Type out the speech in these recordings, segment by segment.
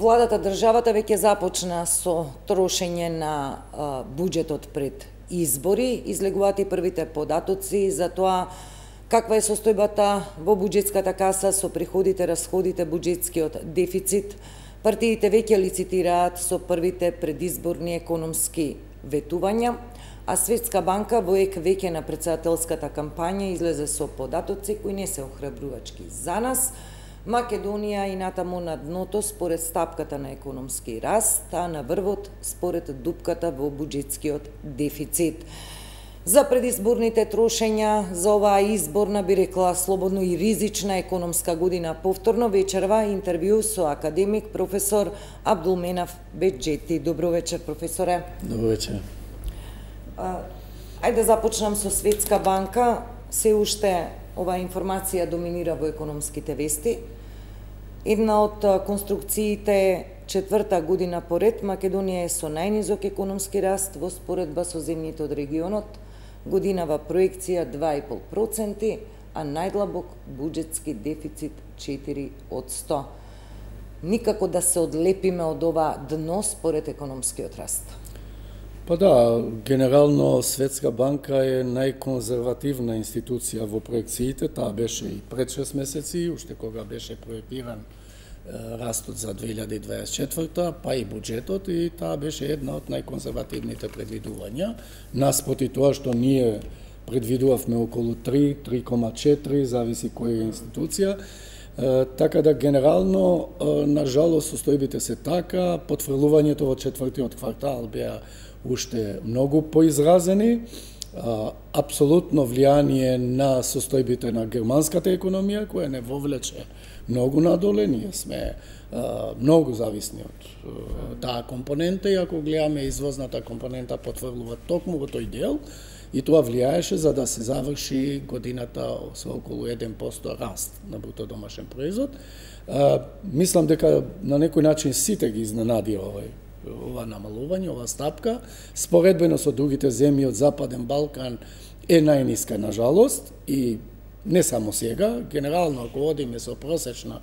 Владата, државата веќе започна со трошење на буџетот пред избори. Излегуваат и првите податоци за тоа каква е состојбата во буџетската каса со приходите, расходите, буџетскиот дефицит. Партиите веќе лицитираат со првите предизборни економски ветувања, а Светска банка во ек веќе на претседателската кампања излезе со податоци кои не се охрабрувачки за нас. Македонија и натаму на дното според стапката на економски раст, а на врвот според дупката во буџетскиот дефицит. За предизборните трошења за оваа изборна, би рекла, слободно и ризична економска година повторно вечерва интервју со академик професор Абдулменав Беџети. Добро вечер, професоре. Добро вечер. Ајде да започнам со Светска банка. Се уште оваа информација доминира во економските вести. Една од конструкциите четврта година поред, Македонија е со најнизок економски раст во споредба со земјите од регионот, годинава проекција 2,5%, а најдлабок буџетски дефицит 4%. Никако да се одлепиме од ова дно според економскиот раст. Па да, генерално Светска банка е најконзервативна институција во проекциите. Таа беше и пред 6 месеци, уште кога беше проектиран растот за 2024, па и буџетот, и таа беше една од најконзервативните предвидувања. Наспроти тоа што ние предвидувавме околу 3, 3,4, зависи која институција. Така да генерално, на жалост, состојбите се така, потврлувањето во четвртиот квартал беа уште многу поизразени, апсолутно влијание на состојбите на германската економија, која не вовлече многу надоле. Ние сме многу зависни од таа компонента, и ако гледаме извозната компонента потврлува токму во тој дел, и тоа влијаеше за да се заврши годината со околу 1% раст на бруто домашен производ. Мислам дека на некој начин сите ги изненади ова намалување, ова стапка. Споредбено со другите земји од Западен Балкан е најниска на жалост, и не само сега, генерално ако одиме со просечна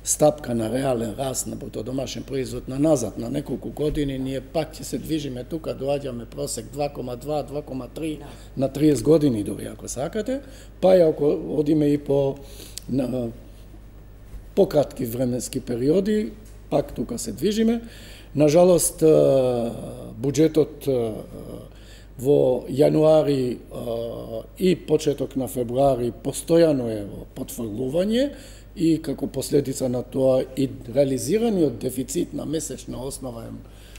стапка на реален раст на бруто домашен производ на назад на неколку години, ние пак ќе се движиме тука, доаѓаме просек 2,2, 2,3 на 30 години дори ако сакате, па и ако одиме и по пократки временски периоди, пак тука се движиме. На жалост, буџетот во јануари и почеток на февруари постојано е во потврлување, и како последица на тоа и реализираниот дефицит на месечна основа е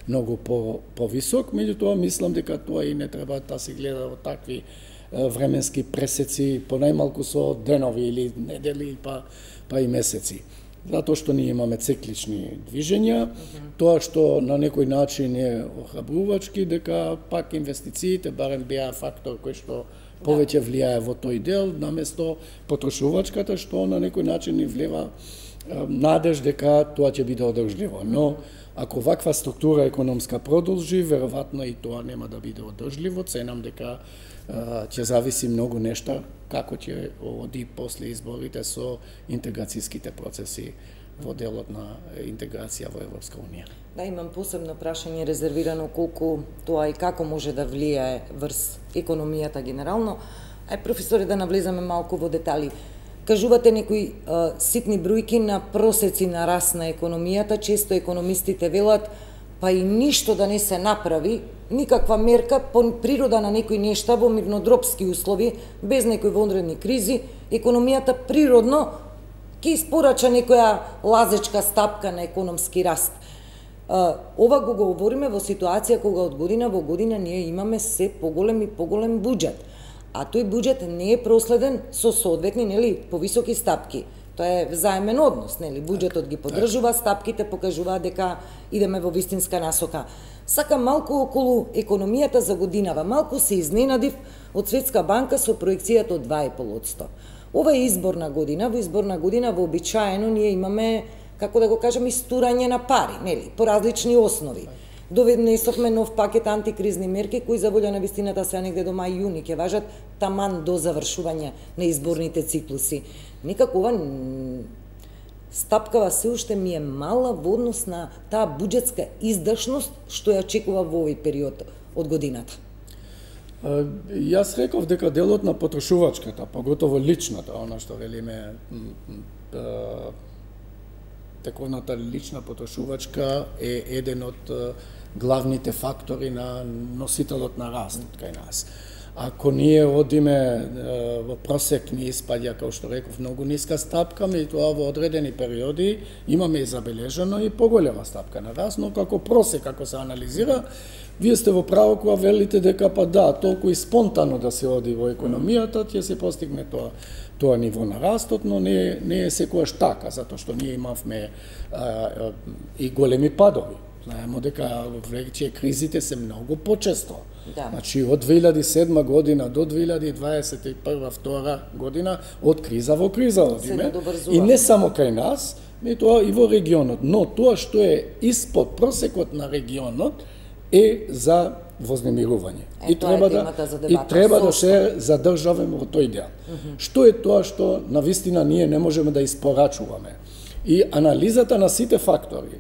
многу повисок. Меѓутоа, мислам дека тоа и не треба да се гледа во такви временски пресеци, понајмалку со денови или недели, па и месеци. Затоа што ние имаме циклични движења, тоа што на некој начин е охрабрувачки, дека пак инвестициите барем беа фактор кој што повеќе влијае во тој дел, наместо потрошувачката, што на некој начин ни влева надеж дека тоа ќе биде одржливо. Но ако ваква структура економска продолжи, веројатно и тоа нема да биде одржливо. Ценам дека ќе зависи многу нешта како ќе оди после изборите со интеграцијските процеси во делот на интеграција во Европска унија. Да, имам посебно прашање резервирано колку тоа и како може да влијае врз економијата генерално. Професоре, да навлеземе малку во детали. Кажувате некои ситни бројки на просеци на раст на економијата, често економистите велат па и ништо да не се направи, никаква мерка по природа на некои нешта во мирнодропски услови, без некои вонредни кризи, економијата природно ќе испорача некоја лазечка стапка на економски раст. Ова го говориме во ситуација кога од година во година ние имаме се поголем и поголем буџет, а тој буџет не е проследен со соодветни, повисоки стапки. Тоа е взаемен однос, буџетот ги поддржува, стапките покажуваат дека идеме во вистинска насока. Сакам малку околу економијата за годинава. Малку се изненадив од Светска банка со проекцијата од 2,5%. Ова е изборна година, во изборна година вообичаено ние имаме, како да го кажем, истурање на пари, по различни основи. Доведнесовме нов пакет антикризни мерки кои за волја на вистината се негде до мај-јуни ќе важат таман до завршување на изборните циклуси. Никако ова стапкава се уште ми е мала во однос на таа буџетска издашност што ја очекува во овој период од годината. Јас реков дека делот на потрошувачката, поготово личната, она што велиме тековната лична потрошувачка е еден од главните фактори на носителот на растот кај нас. Ако ние одиме во просек, ни испаѓа, како што реков, многу ниска стапка, меѓутоа во одредени периоди имаме и забележано и поголема стапка на раст, но како просек, како се анализира, вие сте во право кога велите дека па да, толку и спонтано да се оди во економијата, ќе се постигне тоа ниво на растот, но не е секогаш така, затоа што ние имавме и големи падови. Знаеме дека веќе кризите се многу почесто. Да. Значи, од 2007 година до 2021-2022 година, од криза во криза одиме. И не само кај нас, тоа и во регионот. Но тоа што е испод просекот на регионот е за вознемирување. И треба да се задржаваме во тој дел. Што е тоа што навистина ние не можеме да испорачуваме? И анализата на сите фактори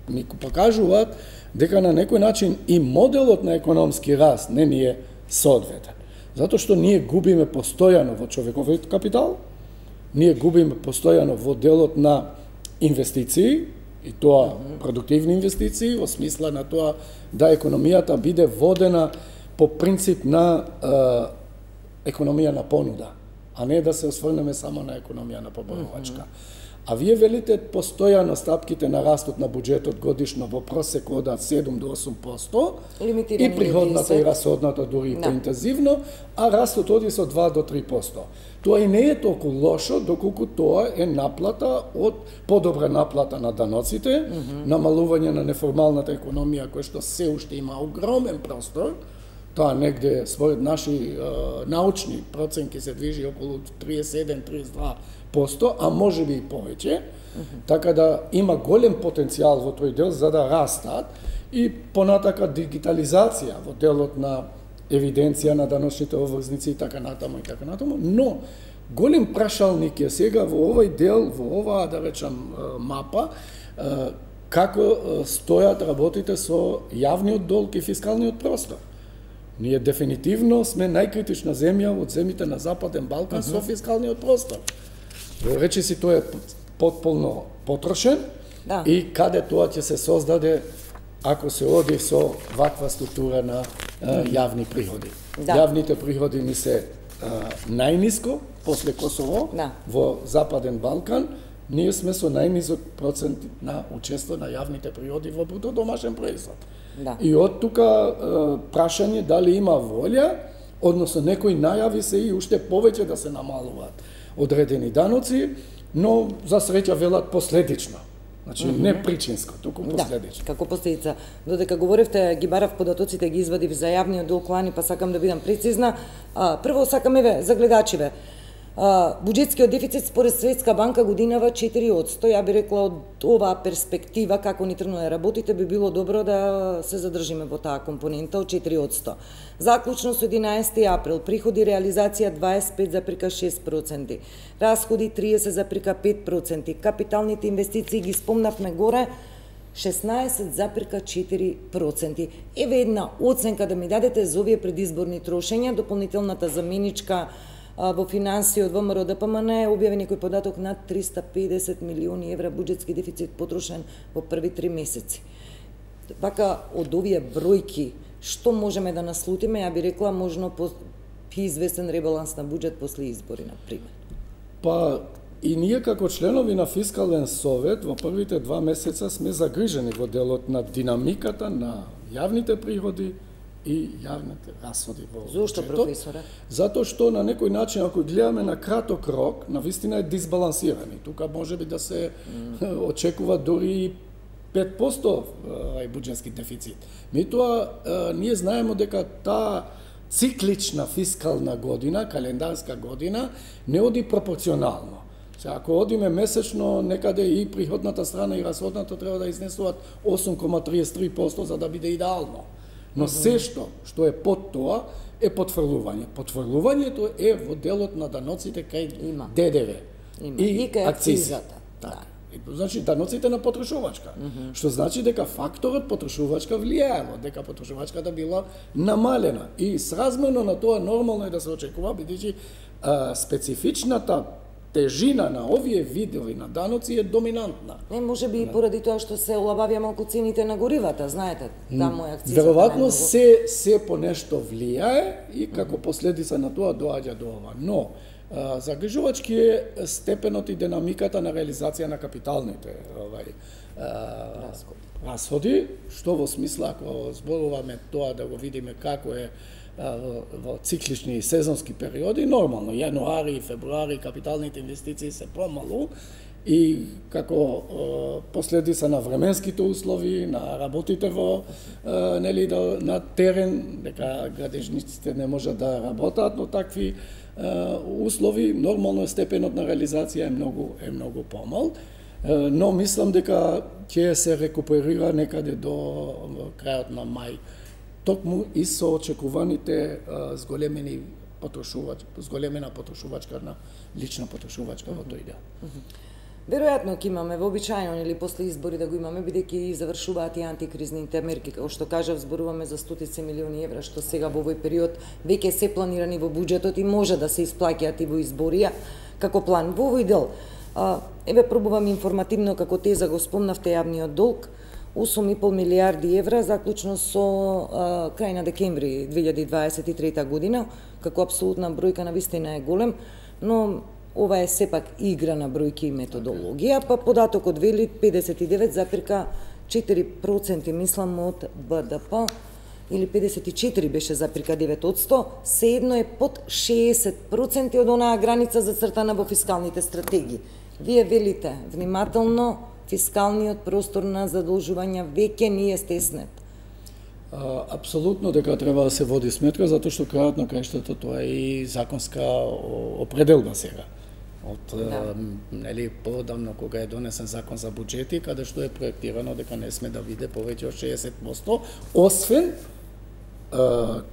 ни покажуваат дека на некој начин и моделот на економски раст не ни е соодветен. Затоа што ние губиме постојано во човековиот капитал, ние губиме постојано во делот на инвестиции, и тоа продуктивни инвестиции, во смисла на тоа да економијата биде водена по принцип на економија на понуда, а не да се осврнеме само на економија на побарувачка. А вие велите постојано стапките на растот на буџетот годишно во просек одат 7 до 8%, и приходната и расходната дури и поинтензивно, а растот оди со 2 до 3%. Тоа и не е толку лошо, доколку тоа е наплата од подобра наплата на даноците, намалување на неформалната економија, која што се уште има огромен простор. Тоа негде, според наши научни проценки, се движи околу 37-32%, а може би и повеќе. Така да има голем потенцијал во тој дел за да растат и понатака дигитализација во делот на евиденција на даночните обврзници и така натаму, но голем прашалник е сега во овој дел, во оваа, да речам, мапа, како стојат работите со јавниот долг и фискалниот простор. Ние дефинитивно сме најкритична земја од земјите на Западен Балкан со фискалниот простор. Речиси тој е потполно потрошен и каде тоа ќе се создаде ако се оди со ваква структура на јавни приходи. Јавните приходи ни се најниско после Косово во Западен Балкан. Ние сме со најнизок процент на учество на јавните приходи во бруто домашен производ. И од тука прашање дали има волја, односно некои најави се и уште повеќе да се намалуваат одредени даноци, но за среќа велат последично. Значи не причинско, туку последично. Како последица. Додека говоревте, ги барав податоците, ги извадив за јавниот долг лани, па сакам да бидам прецизна. Прво сакам за гледачиве. Буџетскиот дефицит според Светска банка годинава 4%. Ја би рекла од оваа перспектива, како ни тргнале работите, би било добро да се задржиме во таа компонента од 4%. Заклучно со 11 април, приходи реализација 25,6%, расходи 30,5%, капиталните инвестиции ги спомнавме горе, 16,4%. Еве една оценка да ми дадете за овие предизборни трошења, дополнителната заменичка во финансии од ВМРО ДПМН објави некој податок над 350 милиони евра буџетски дефицит потрошен во први 3 месеци. Вака, од овие бројки, што можеме да наслутиме, ја би рекла, можно по известен ребаланс на буџет после избори, например? Па, и ние како членови на Фискален совет во првите 2 месеца сме загрижени во делот на динамиката на јавните приходи и јавните расходи во буџетот. Зошто, професоре? Затоа што на некој начин, ако гледаме на краток рок, навистина е дисбалансирани. Тука може би да се очекува дури 5% буџетски дефицит. Меѓутоа, ние знаеме дека таа циклична фискална година, календарска година, не оди пропорционално. Ако одиме месечно, некаде и приходната страна и расходната треба да изнесуваат 8,33% за да биде идеално. Но се што е под тоа е потврлување. Потврлувањето е во делот на даноците кај ДДВ и кај акцизата. Така. Значи, даноците на потрошувачка. Што значи дека факторот потрошувачка влијаело, дека потрошувачката била намалена. И сразмерно на тоа нормално е да се очекува, бидејќи специфичната тежина на овие видови на даноци е доминантна. Не, може би и поради тоа што се олабавија малку цените на горивата, знаете, таму е акцизата. Веројатно се по нешто влијае и како последица на тоа доаѓа до ова. Но загрижувачки е степенот и динамиката на реализација на капиталните расходи, што во смисла, ако зборуваме тоа да го видиме како е во циклични и сезонски периоди, нормално, јануари и февруари капиталните инвестиции се помалу и како последица на временските услови, на работите во на терен, дека градежниците не можат да работат, но такви услови, нормално е степенот на реализација е многу помал, но мислам дека ќе се рекуперира некаде до крајот на мај, токму и со очекуваните зголемена потрошувачка на лична потрошувачка во тој дел. Веројатно ќе имаме вообичаено или после избори да го имаме, бидејќи завршуваат и антикризните мерки, како што кажав, зборуваме за стотици милиони евра, што сега во овој период веќе се планирани во буџетот и може да се исплаќаат и во изборија како план. Во овој дел, еве пробувам информативно како теза го спомнавте јавниот долг, 8,5 милиарди евра, заклучно со крај на декември 2023 година, како апсолутна бројка навистина е голем, но ова е сепак игра на бројки и методологија, па податокот вели 59,4% мислам од БДП, или 54 беше запирка 9%, sejedno е под 60% од онаа граница зацртана во фискалните стратегии. Вие велите, внимателно, фискалниот простор на задолжување веќе не е стеснет. Апсолутно дека треба да се води сметка, затоа што крајот на крајштата тоа е и законска определба сега. Од поодамно кога е донесен закон за буџети, каде што е проектирано дека не сме да биде повеќе од 60%, освен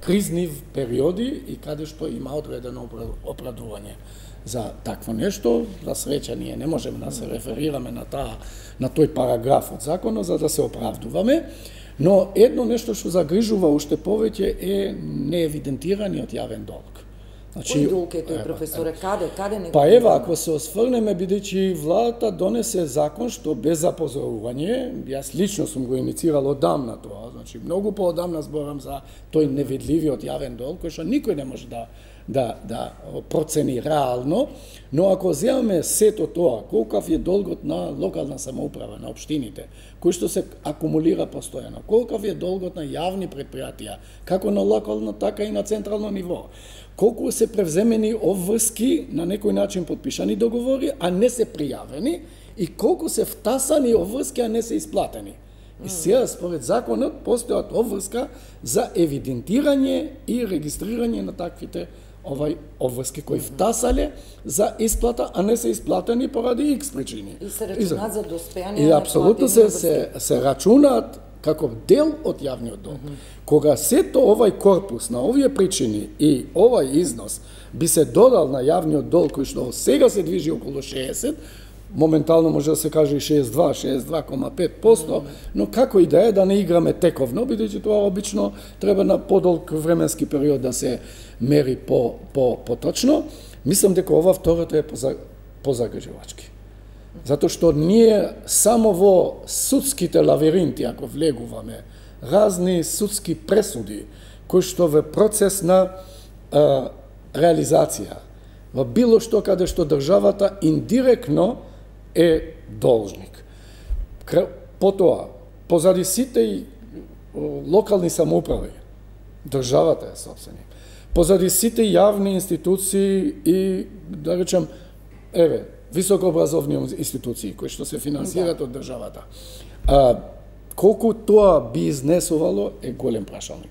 кризни периоди и каде што има одредено оправдување за такво нешто. За среќа ние не можеме да се реферираме на тој параграф од законот за да се оправдуваме, но едно нешто што загрижува уште повеќе е неевидентираниот јавен долг. Кој долг е тој, професоре? Каде не го? Па ева, ако се осврнеме, бидејќи владата донесе закон што без запозорување, јас лично сум го иницирал одамна тоа, значи многу поодамна зборам за тој невидливиот јавен долг, кој што никој не може да процени реално, но ако земаме сето тоа, колкав е долгот на локална самоуправа, на општините, кој што се акумулира постојано, колкав е долгот на јавни предпријатија, како на локално, така и на централно ниво, колку се превземени обврски на некој начин подпишани договори, а не се пријавени, и колку се втасани обврски, а не се исплатени. И сега, според законот, постојат обврска за евидентирање и регистрирање на таквите обврски кои втасале за исплата, а не се исплатени поради X причини. И се рачунаат за доспејање и апсолутно се рачунаат како дел од јавниот долг. Кога сето овај корпус на овие причини и овај износ би се додал на јавниот долг кој што сега се движи околу 60, моментално може да се каже и 62,5%, но како и да е, да не играме тековно, бидејќи тоа обично треба на подолг временски период да се мери поточно, мислам дека ова второто е позагрижувачки. Затоа што ние само во судските лавиринти, ако влегуваме, разни судски пресуди, кои што во процес на реализација, во било што каде што државата индиректно е должник. Потоа, позади сите и локални самоуправи, државата е собственик. Позади сите јавни институции и, да речем, високообразовни институции кои што се финансираат од државата. Колку тоа би изнесувало е голем прашалник.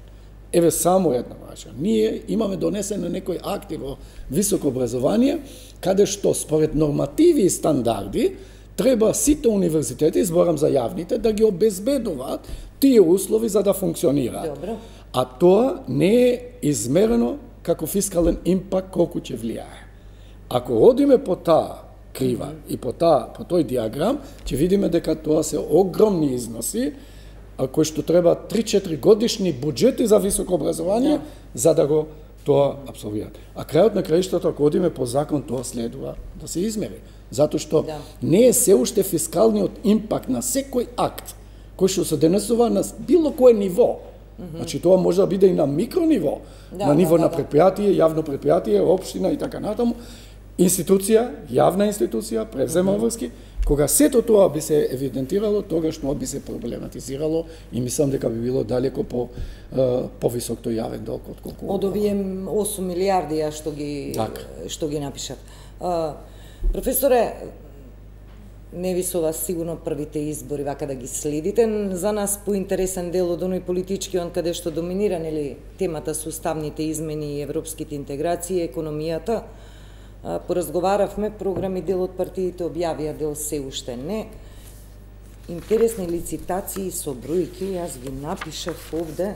Еве само една прашање. Ние имаме донесено некои акти во високо образование, каде што според нормативи и стандарди треба сите универзитети, зборам за јавните, да ги обезбедуваат тие услови за да функционираат. Добро. А тоа не е измерено како фискален импакт колку ќе влијае. Ако одиме по таа крива. И по тој диаграм ќе видиме дека тоа се огромни износи, кои што треба 3-4 годишни буџети за високо образование, за да го тоа апсолвираат. А крајот на краиштата, ако одиме по закон, тоа следува да се измери. Затоа што не е се уште фискалниот импакт на секој акт кој што се денесува на било кое ниво. Значи тоа може да биде и на микрониво, на ниво на предпријатие, јавно предпријатие, општина и така натаму. Институција, јавна институција, превзема врски. Кога сето тоа би се евидентирало, тогаш тоа би се проблематизирало и мислам дека би било далеко повисок тој јавен долг отколку од овие 8 милиарди што ги напишат. Професоре, не ви со вас сигурно првите избори вака да ги следите. За нас поинтересен дел од оној политички, каде што доминира темата со уставните измени и европските интеграции, економијата. Поразговаравме, програми дел од партиите објавија, дел се уште не. Интересни лицитации со бројки, јас ги напишав овде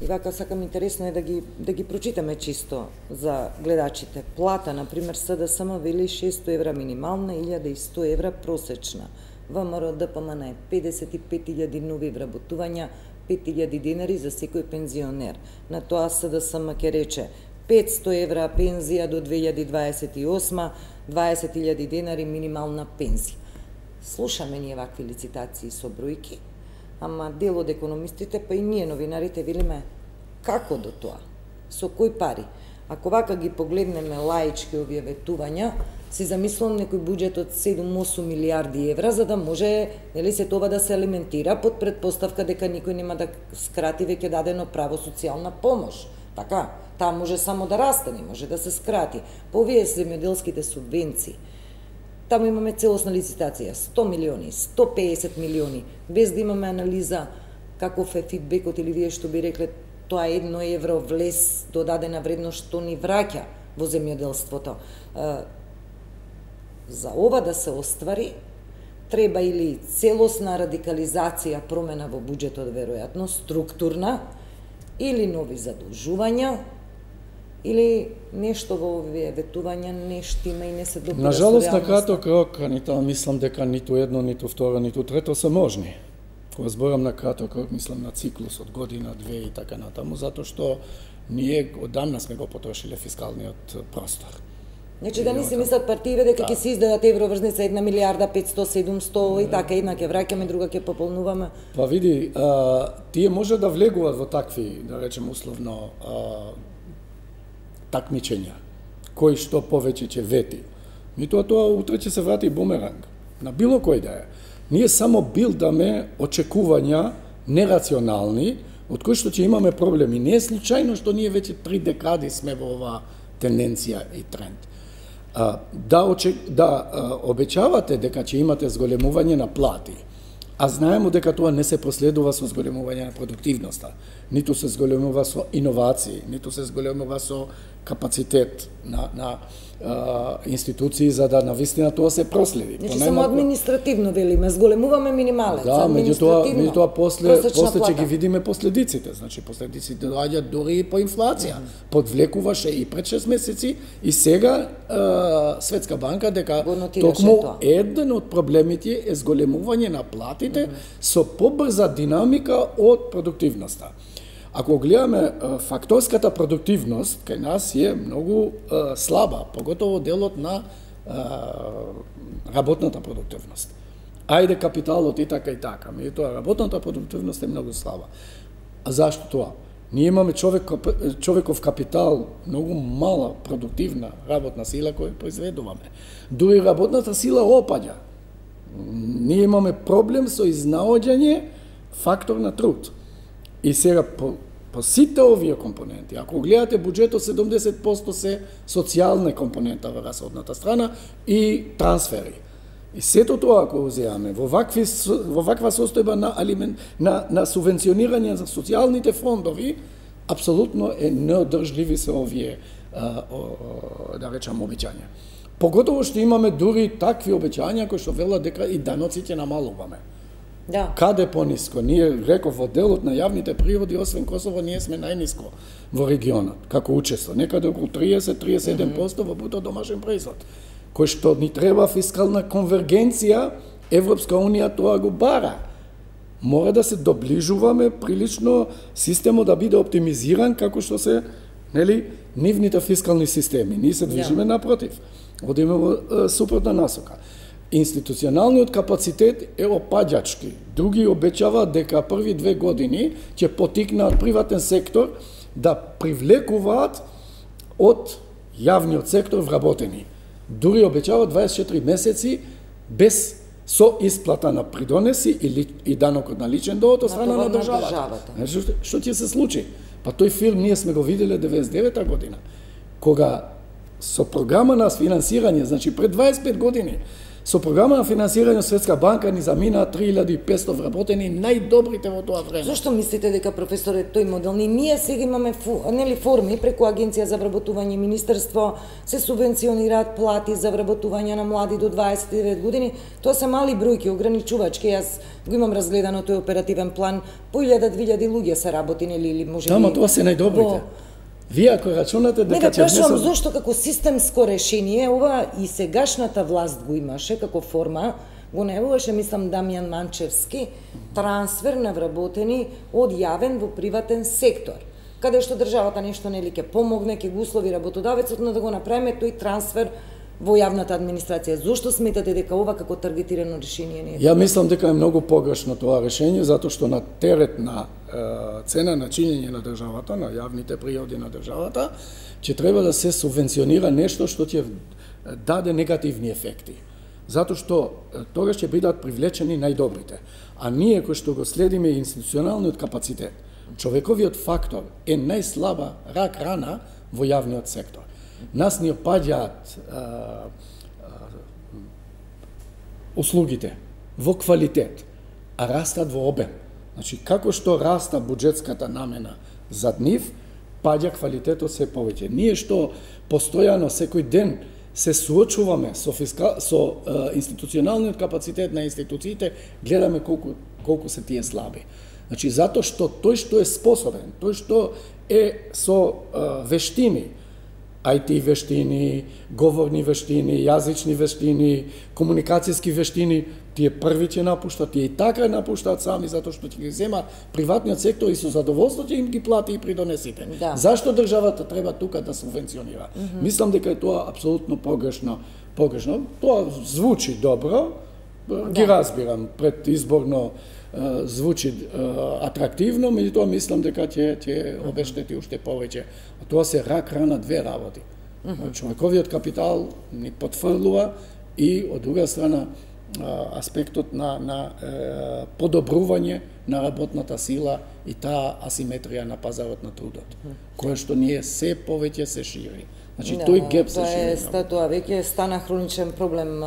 и вака сакам, интересно е да ги прочитаме чисто за гледачите. Плата, например, СДСМ вели 600 евра минимална, 1100 евра просечна. ВМРО ДПМН е 55.000 нови вработувања, 5.000 динари за секој пензионер. На тоа СДСМ ќе рече 500 евра пензија до 2028, 20.000 динари минимална пензија. Слушаме ние вакви лицитации со бројки, ама дел од економистите, па и ние новинарите велиме како до тоа, со кои пари. Ако вака ги погледнеме лаички овие ветувања, си замислувам некој буџет од 7-8 милиарди евра, за да може се тоа да се алиментира под предпоставка дека никој нема да скрати веќе дадено право социјална помош. Така, таа може само да расте, не може да се скрати. По овие земјоделските субвенции, таму имаме целосна лицитација, 100 милиони, 150 милиони, без да имаме анализа каков е фидбекот или вие што би рекле тоа 1 евро влез до дадена вредност што ни враќа во земјоделството. За ова да се оствари, треба или целосна радикализација, промена во буџетот, веројатно, структурна, или нови задолжувања, или нешто во овие ветувања не штима и не се допира. На жалост, на краток рок, мислам дека ниту едно, ниту второ, ниту трето се можни. Кога зборам на краток рок, мислам на циклус од година, две и така натаму, затоа што ние одамна сме го потрошиле фискалниот простор. Значи да не си мислат партиите дека ќе се издадат евроврзница 1 милиарда 500-700 и така, една ќе враќаме, друга ќе пополнуваме. Па види, тие може да влегуваат во такви, да речем условно, такмичења, кој што повеќе ќе вети. Меѓутоа тоа утре ќе се врати бумеранг, на било кој да е. Ние само билдаме очекувања нерационални, од кои што ќе имаме проблеми. Не е случајно што ние веќе 3 декади сме во оваа тенденција и тренд. Да обечавате дека ќе имате зголемување на плати, а знаеме дека тоа не се проследува со зголемување на продуктивноста, ниту се зголемува со иновации, ниту се зголемува со капацитет на институции за да навистина тоа се проследи. Значи само административно велиме, зголемуваме минималец, меѓутоа после ќе ги видиме последиците. Значи последиците доаѓаат дури и по инфлација. Подвлекуваше и пред 6 месеци и сега Светска банка дека токму еден од проблемите е зголемување на платите со побрза динамика од продуктивноста. Ако гледаме факторската продуктивност, кај нас е многу слаба, поготово делот на работната продуктивност. Ајде капиталот и така и така, меѓутоа работната продуктивност е многу слаба. А зашто тоа? Ние имаме човеков капитал, многу мала продуктивна работна сила која произведуваме. Дури работната сила опаѓа. Ние имаме проблем со изнаоѓање фактор на труд. И сега по сите овие компоненти, ако гледате буџетот, 70% се социјална компонента во расходната страна и трансфери. И сето тоа ако узеаме во ваква состојба на субвенционирање за социјалните фондови, апсолутно е неодржливи се овие да речам обеќања. Поготово што имаме дури такви обеќања кои што велат дека и даноците намалуваме. Да. Каде пониско? Ние, реков, во делот на јавните приходи, освен Косово, ние сме најниско во регионот, како учество. Некаде околу 30-37% во бруто домашен производ. кој што ни треба фискална конвергенција, Европска унија тоа го бара. Мора да се доближуваме прилично, системот да биде оптимизиран како што се, нели, нивните фискални системи. Ние се движиме напротив. Одиме во супротна насока. Институционалниот капацитет е опаѓачки. Други обечаваат дека први 2 години ќе потикнат приватен сектор да привлекуваат од јавниот сектор вработени. Дури обечаваат 24 месеци без со исплата на придонеси и данокот на личен доход од страна на државата. Што ќе се случи? Па тој филм ние сме го виделе 99-та година, кога со програма на финансирање, значи пред 25 години, со програма на финансирање Светска банка ни замина 3500 вработени најдобрите во тоа време. Зошто мислите дека, професоре, тој модел? Ние сега имаме форми преку Агенција за вработување, Министерство, се субвенционираат плати за вработување на млади до 29 години. Тоа се мали бројки, ограничувачки. Јас го имам разгледано тој оперативен план, по 1000-2000 луѓе се работи, или може би... Тама тоа се најдобрите. Вие ако рачунате дека ќе внесат... зошто како системско решение, ова и сегашната власт го имаше како форма, го најавуваше, мислам, Дамјан Манчевски, трансфер на вработени од јавен во приватен сектор, каде што државата нешто нели ќе помогне, ќе го услови работодавецот, но да го направиме тој трансфер во јавната администрација. Зошто сметате дека ова како таргетирано решение не е? Ја мислам дека е многу погрешно тоа решение, затоа што на терет на цена на чинење на државата, на јавните приходи на државата, ќе треба да се субвенционира нешто што ќе даде негативни ефекти. Затоа што тогаш ќе бидат привлечени најдобрите. А ние кои што го следиме институционалниот капацитет, човековиот фактор е најслаба рак рана во јавниот сектор. Нас ни опаѓаат услугите во квалитет, а растат во обем. Значи, како што раста буџетската намена за нив, паѓа квалитетот се повеќе. Ние што постојано секој ден се суочуваме со институционалниот капацитет на институциите, гледаме колку се тие слаби. Значи, затоа што тој што е способен, тој што е со вештини, IT вештини, говорни вештини, јазични вештини, комуникацијски вештини, тие први ќе напуштат, тие и така напуштаат сами, затоа што ќе ги зема приватниот сектор и со задоволство ќе им ги плати и придонесите. Да. Зашто државата треба тука да субвенционира? Мислам дека е тоа апсолутно погрешно. Тоа звучи добро, ги разбирам, предизборно звучи атрактивно, меѓутоа мислам дека ќе обештети уште повеќе. Тоа се рак рана две работи. Човековиот капитал ни потфрлува и од друга страна аспектот на подобрување на работната сила и таа асиметрија на пазарот на трудот, која што ние се повеќе се шири. Значи тој геп се шири. Тоа веќе стана хроничен проблем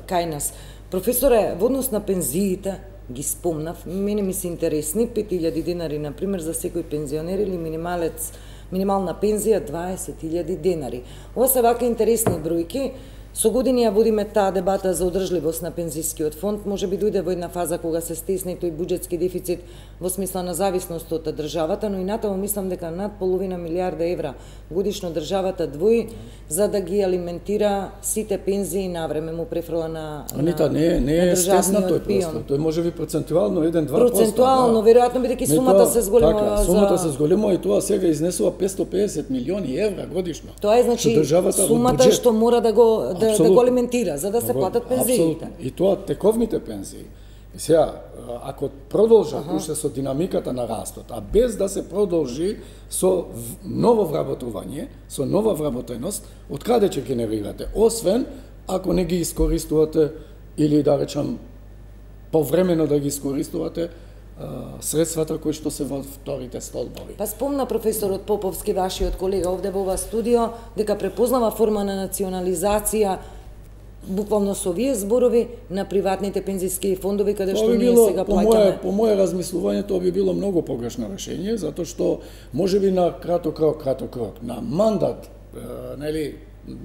кај нас. Професоре, во однос на пензиите, ги спомнав, мене ми се интересни 5000 денари, например, за секој пензионер или минимална пензија 20.000 денари. Ова се вака интересни бројки. Со години ја водиме таа дебата за одржливост на пензискиот фонд, може би дојде во една фаза кога се стесни тој буџетски дефицит во смисла на зависност од државата, но и натаму мислам дека над половина милиарда евра годишно државата двои за да ги алиментира сите пензии навреме, му префрла на Анита, не е стесна тој простор. Тој може би процентуално 1-2%. Процентуално, веројатно бидејќи сумата се зголемува. Сумата се зголемува и тоа сега изнесува 550 милиони евра годишно. Тоа е значи сумата што мора да го алиментира, за да се платат пензиите. И тоа тековните пензии. И сега, ако продолжат уште со динамиката на растот, а без да се продолжи со ново вработување, со нова вработеност, од каде ќе генерирате? Освен ако не ги искористувате или да речам повремено да ги искористувате средствата кои што се во вторите столбови. Па спомна професорот Поповски, вашиот колега овде во ова студио, дека препознава форма на национализација буквално со овие зборови на приватните пензиски фондови, каде што ние сега плаќаме. По моје размислување тоа би било многу погрешно решение, затоа што можеби на краток рок, на мандат, нели,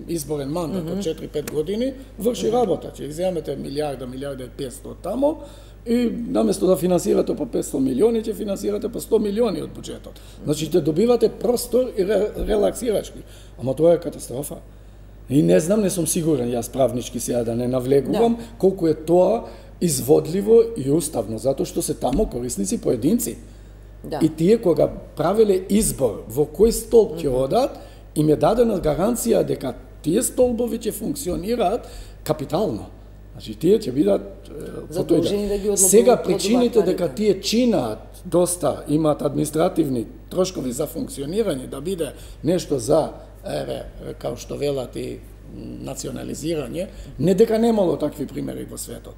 изборен мандат од 4-5 години, врши работа. Ќе земете милиарда и 500 тамо, и наместо да финансирате по 500 милиони, ќе финансирате по 100 милиони од буџетот. Значи, ќе добивате простор и релаксирачки. Ама тоа е катастрофа. И не знам, не сум сигурен, јас правнички сега да не навлегувам, колку е тоа изводливо и уставно, затоа што се таму корисници поединци. И тие кога правеле избор во кој столб ќе одат, им е дадена гаранција дека тие столбови ќе функционираат капитално. Значи тие ќе бидат задолжени да ги одлобуваат. Сега причините дека тие чинаат доста, имаат административни трошкови за функционирање, да биде нешто за као што велат и национализирање, не дека немало такви примери во светот.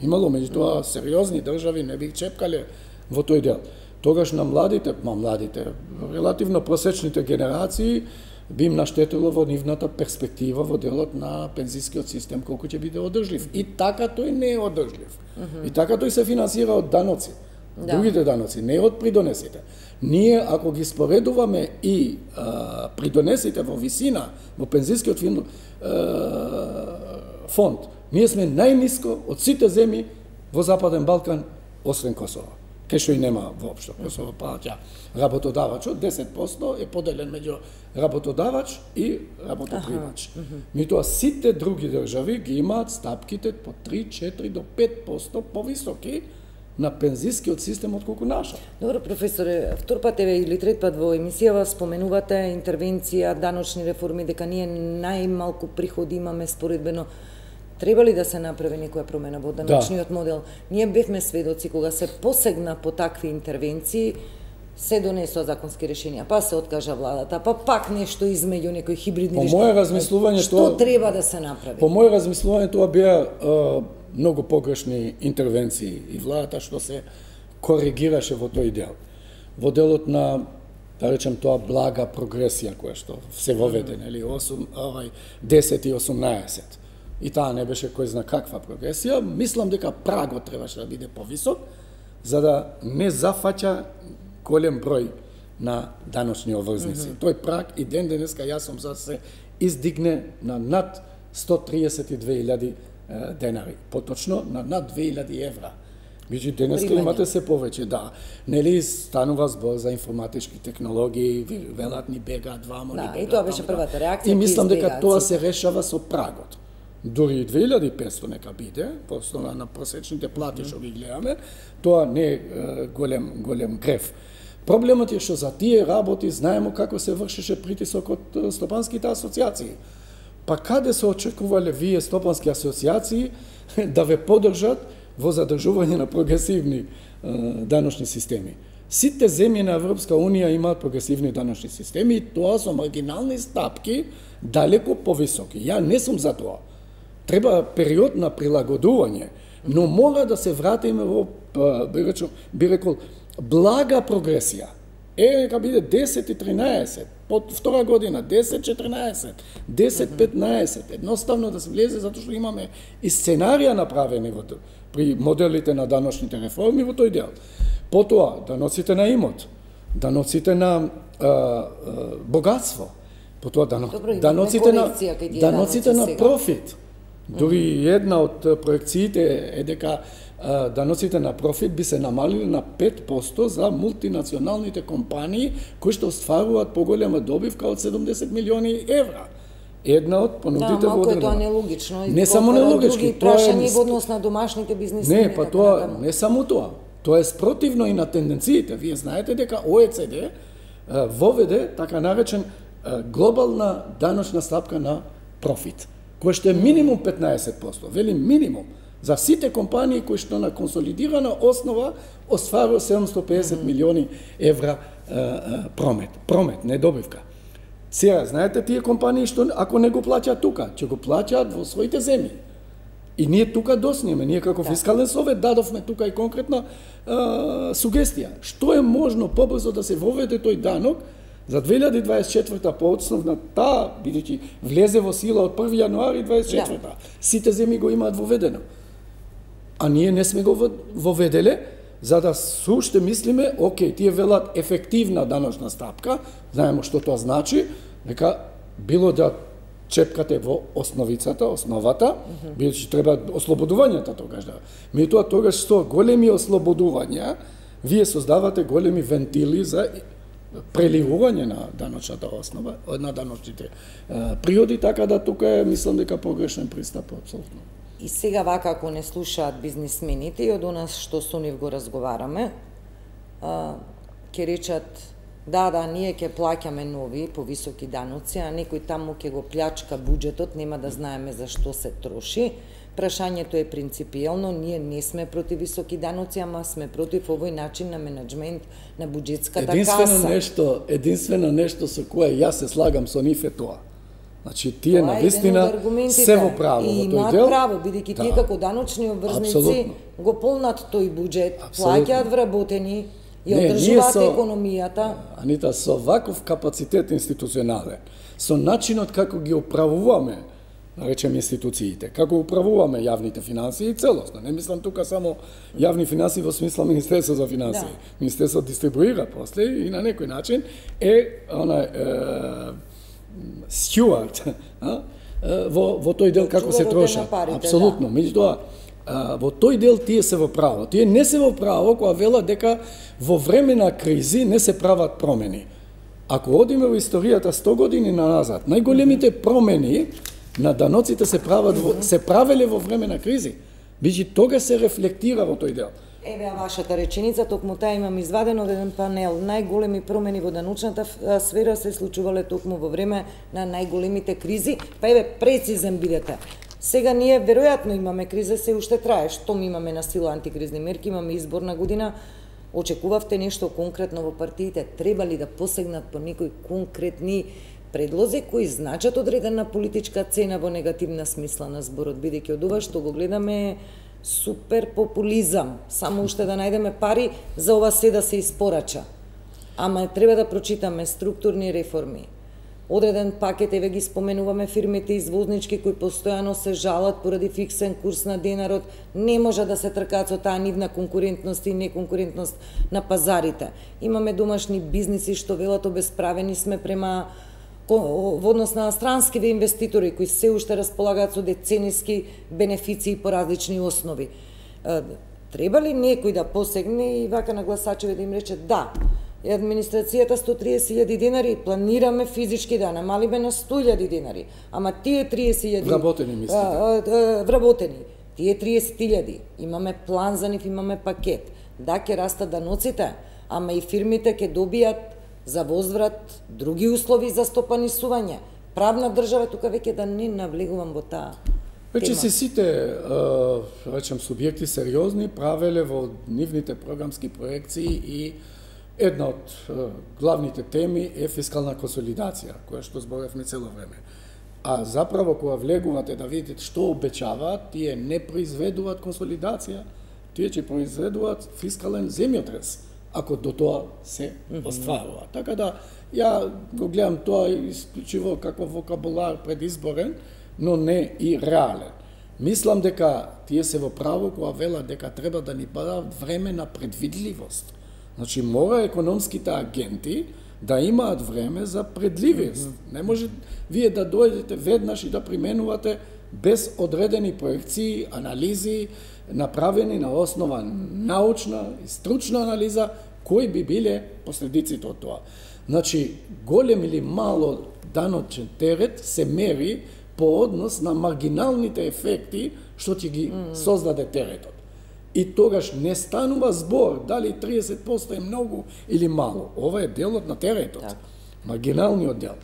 Имало, меѓутоа сериозни држави не би чепкале во тој дел. Тогаш на младите, релативно просечните генерации би им наштетило во нивната перспектива во делот на пензискиот систем колку ќе биде одржлив. И така тој не е одржлив. И така тој се финансира од даноци. Другите даноци, не од придонесите. Ние, ако ги споредуваме и придонесите во висина, во пензискиот фонд, ние сме најниско од сите земји во Западен Балкан, освен Косово. Кај што и нема воопшто. Косово плаќа работодавачот, 10% е поделен меѓу работодавач и работопримач. Меѓутоа сите други држави ги имаат стапките по 3, 4 до 5% повисоки на пензискиот систем отколку наша. Добро, професоре, втор пат или трет пат во емисијава споменувате интервенција, даночни реформи, дека ние најмалку приходи имаме споредбено. Треба ли да се направи некоја промена во даночниот модел? Ние бевме сведоци кога се посегна по такви интервенции, се донесоа законски решенија, па се откажа владата, па пак нешто измеѓу некои хибридни решенија. По моје размислување што треба да се направи? По моје размислување тоа беа многу погрешни интервенции и владата што се коригираше во тој дел. Во делот на, да речем тоа, блага прогресија која што се воведе, нели, 10 и 18. И таа не беше кој зна каква прогресија. Мислам дека прагот требаше да биде повисок, за да не зафаќа голем број на даночни обврзници. Тој праг и ден денеска јас сум за да се издигне на над 132.000 денари, поточно на над 2.000 евра. Меѓу денеска имате се повеќе, да. Нели станува збор за информатички технологии, велат ни бегаат вамо, ни бегаат. Да, и тоа беше првата реакција. И мислам дека тоа се решава со прагот. Дури 2500 нека биде, по основа на просечните плати што ги гледаме, тоа не е голем греф. Проблемот е што за тие работи знаеме како се вршеше притисок од стопанските асоциации. Па каде се очекувале вие стопански асоциации да ве поддржат во задржување на прогресивни даночни системи? Сите земји на Европска Унија имаат прогресивни даночни системи и тоа со маргинални стапки далеко повисоки. Ја не сум за тоа. Треба период на прилагодување, но мора да се вратиме во, би рекол, блага прогресија. Нека биде 10 и 13, под втора година 10-14, 10-15, едноставно да се влезе затоа што имаме и сценарија направени при моделите на даночните реформи во тој дел. Потоа, даноците на имот, даноците на богатство, потоа даноците на профит. Дури една од проекциите е дека даноците на профит би се намалили на 5% за мултинационалните компании кои што остваруваат поголема добивка од 70 милиони евра. Една од понудите во одржава. Да, тоа нелогично. Не само нелогично, други прашања во однос на домашните бизниси. Не, па тоа не само тоа. Тоа е спротивно и на тенденциите. Вие знаете дека ОЕЦД воведе така наречен глобална даночна стапка на профит, кој што е минимум 15%, вели минимум, за сите компании кои што на консолидирана основа остварува 750 милиони евра промет, не добивка. Сега, знаете тие компании што ако не го плаќаат тука, ќе го плаќаат во своите земји. И ние тука доснеме, ние како фискален совет дадовме тука и конкретна сугестија. Што е можно побрзо да се воведе тој данок за 2024 по основна таа, бидејќи влезе во сила од 1 јануари 2024. Сите земји го имаат воведено. А ние не сме го воведеле, за да суште мислиме, окей, тие велат ефективна даночна стапка, знаеме што тоа значи, дека било да чепкате во основата, бидејќи треба ослободувањата тогаш да. Меѓутоа тогаш со големи ослободувања, вие создавате големи вентили за преливување на даночната основа, на даночните приходи, така да тука мислам дека погрешен пристап апсолутно. И сега вака ако не слушаат бизнисмените и од нас што со нив го разговараме, ќе речат да, ние ќе плаќаме нови повисоки даноци, а некој таму ќе го плячка буџетот, нема да знаеме за што се троши. Прашањето е принципиелно, ние не сме против високи даноци, ама сме против овој начин на менеджмент на буџетската каса. Единствено нешто со кое јас се слагам со нив е тоа. Значи, тие навистина се во право во тој дел. И имаат право, бидејќи тие како даночни обврзници го полнат тој буџет, плаќаат вработени, ја одржуваат економијата. Анита, со ваков капацитет институционален, со начинот како ги управуваме, наречем институциите, како управуваме јавните финансии целосно. Не мислам тука само јавни финансии во смисла Министерство за финансии. Да. Министерство дистрибуира после и на некој начин стюард во тој дел како се трошат. Апсолутно. Меѓутоа, во тој дел тие се во право. Тие не се во право кога велат дека во време на кризи не се прават промени. Ако одиме во историјата 100 години назад, најголемите промени на даноците се правеле во време на кризи. Бијќи тога се рефлектира во тој дел. Еве вашата реченица, токму таа имам извадено од еден панел. Најголеми промени во даночната сфера се случувале токму во време на најголемите кризи. Па еве прецизен бидете. Сега ние веројатно имаме криза, се уште трае. Штом имаме на сила антикризни мерки, имаме изборна година. Очекувавте нешто конкретно во партиите? Треба ли да посегнат по некои конкретни предлози кои значат одредена политичка цена во негативна смисла на зборот, бидејќи од ова што го гледаме супер популизам, само уште да најдеме пари за ова се да се испорача. Ама треба да прочитаме структурни реформи. Одреден пакет, еве ги споменуваме фирмите извознички кои постојано се жалат поради фиксен курс на денарот, не може да се тркаат со таа нивна конкурентност и неконкурентност на пазарите. Имаме домашни бизниси што велат обесправени сме према во однос на странскиве инвеститори кои се уште располагаат со децениски бенефиции по различни основи. Треба ли некој да посегне и вака на гласачеве да им рече да, администрацијата 130.000 денари, планираме физички да намалиме на 100.000 денари, ама тие 30.000 вработени, тие 30.000, имаме план за нив, имаме пакет. Да, ќе растат даноците, ама и фирмите ќе добијат за возврат други услови за стопанисување. Правна држава, тука веќе да не навлегувам во таа тема. Веќе се сите, речем, субјекти сериозни правеле во нивните програмски проекции и една од главните теми е фискална консолидација, која што зборевме цело време. А заправо кога влегувате да видите што обечаваат, тие не произведуваат консолидација, тие ќе произведуваат фискален земјотрес, ако до тоа се остварува. Така да, ја го гледам тоа исклучиво како вокабулар предизборен, но не и реален. Мислам дека тие се во право кога велат дека треба да ни дадат време на предвидливост. Значи, мора економските агенти да имаат време за предливост. Не може вие да дојдете веднаш и да применувате без одредени проекции, анализи, направени на основа научна и стручна анализа, кои би биле последиците од тоа. Значи, голем или мало даночен терет се мери по однос на маргиналните ефекти што ќе ги создаде теретот. И тогаш не станува збор дали 30% е многу или мало. Ова е делот на теретот, маргиналниот дел.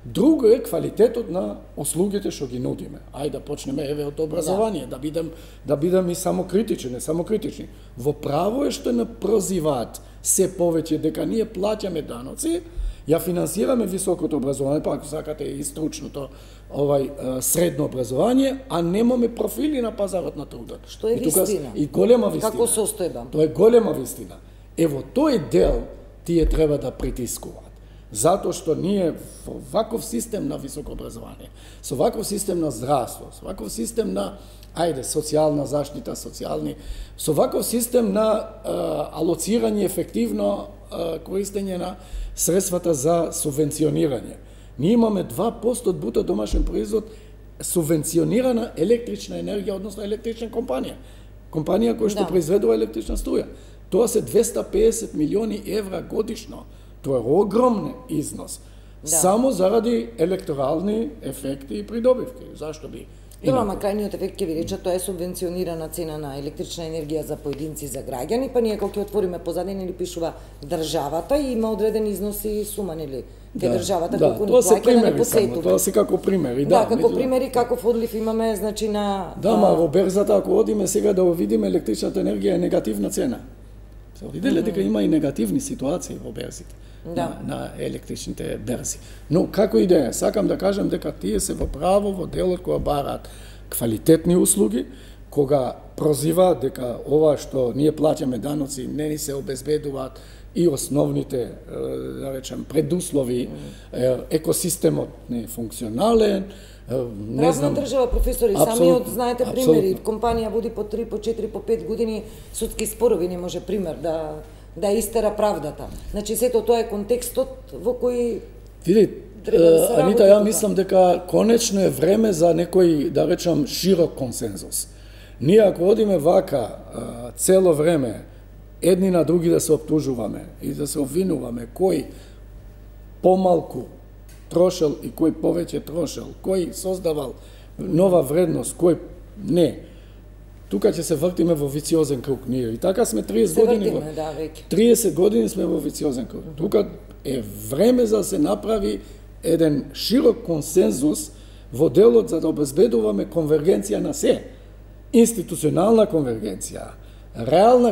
Друго е квалитетот на услугите што ги нудиме. Ајде да почнеме еве од образование, да бидам и самокритичен, не самокритични. Во право е што не прозиваат се повеќе дека ние плаќаме даноци, ја финансираме високото образование, па ако сакате и стручното средно образование, а немаме профили на пазарот на трудот. Што е вистина. И голема вистина. Како состојба? Тоа е голема вистина. Ево тој дел тие треба да притискуваат. Затоа што ние во ваков систем на високо образование, со ваков систем на здравство, со ваков систем на социјална заштита, со ваков систем на алоцирање ефективно користење на средствата за субвенционирање. Ние имаме 2% од бруто домашен производ субвенционирана електрична енергија, односно електрична компанија. Компанија која што произведува електрична струја. Тоа се 250 милиони евра годишно. Тоа е огромен износ. Само заради електорални ефекти и придобивки. Зашто би? Добро, ама крајниот ефект ќе ви рече, тоа е субвенционирана цена на електрична енергија за поединци, за граѓани, па ние кога ќе отвориме позадина или пишува државата и има одреден износ и сума, нели? Државата колку ни плаќа да не посетува. Тоа се како примери, да. Како примери, каков одлив имаме, значи на... Да, ма во берзата, ако одиме сега да видиме електричната енергија е негативна цена. Се виделе дека има и негативни ситуации во берзите. На електричните берзи. Но како и да е, сакам да кажам дека тие се во право во делот кога бараат квалитетни услуги, кога прозиваат дека ова што ние плаќаме даноци не ни се обезбедуваат и основните, да речем, предуслови, екосистемот не е функционален, не знам... Правна држава, професори, самиот знаете примери, компанија води по 3, по 4, по 5 години судски спорови, не може пример да истера правдата. Значи, сето тоа е контекстот во кој треба да се работи. Анита, ја мислам дека конечно е време за некој, да речам, широк консензус. Ние ако одиме вака цело време, едни на други да се оптужуваме и да се обвинуваме кој помалку трошел и кој повеќе трошел, кој создавал нова вредност, кој не, тука ќе се вртиме во вициозен круг ние. И така сме 30 години. 30 години сме во вициозен круг. Тука е време за да се направи еден широк консензус во делот за да обезбедуваме конвергенција на се. Институционална конвергенција, реална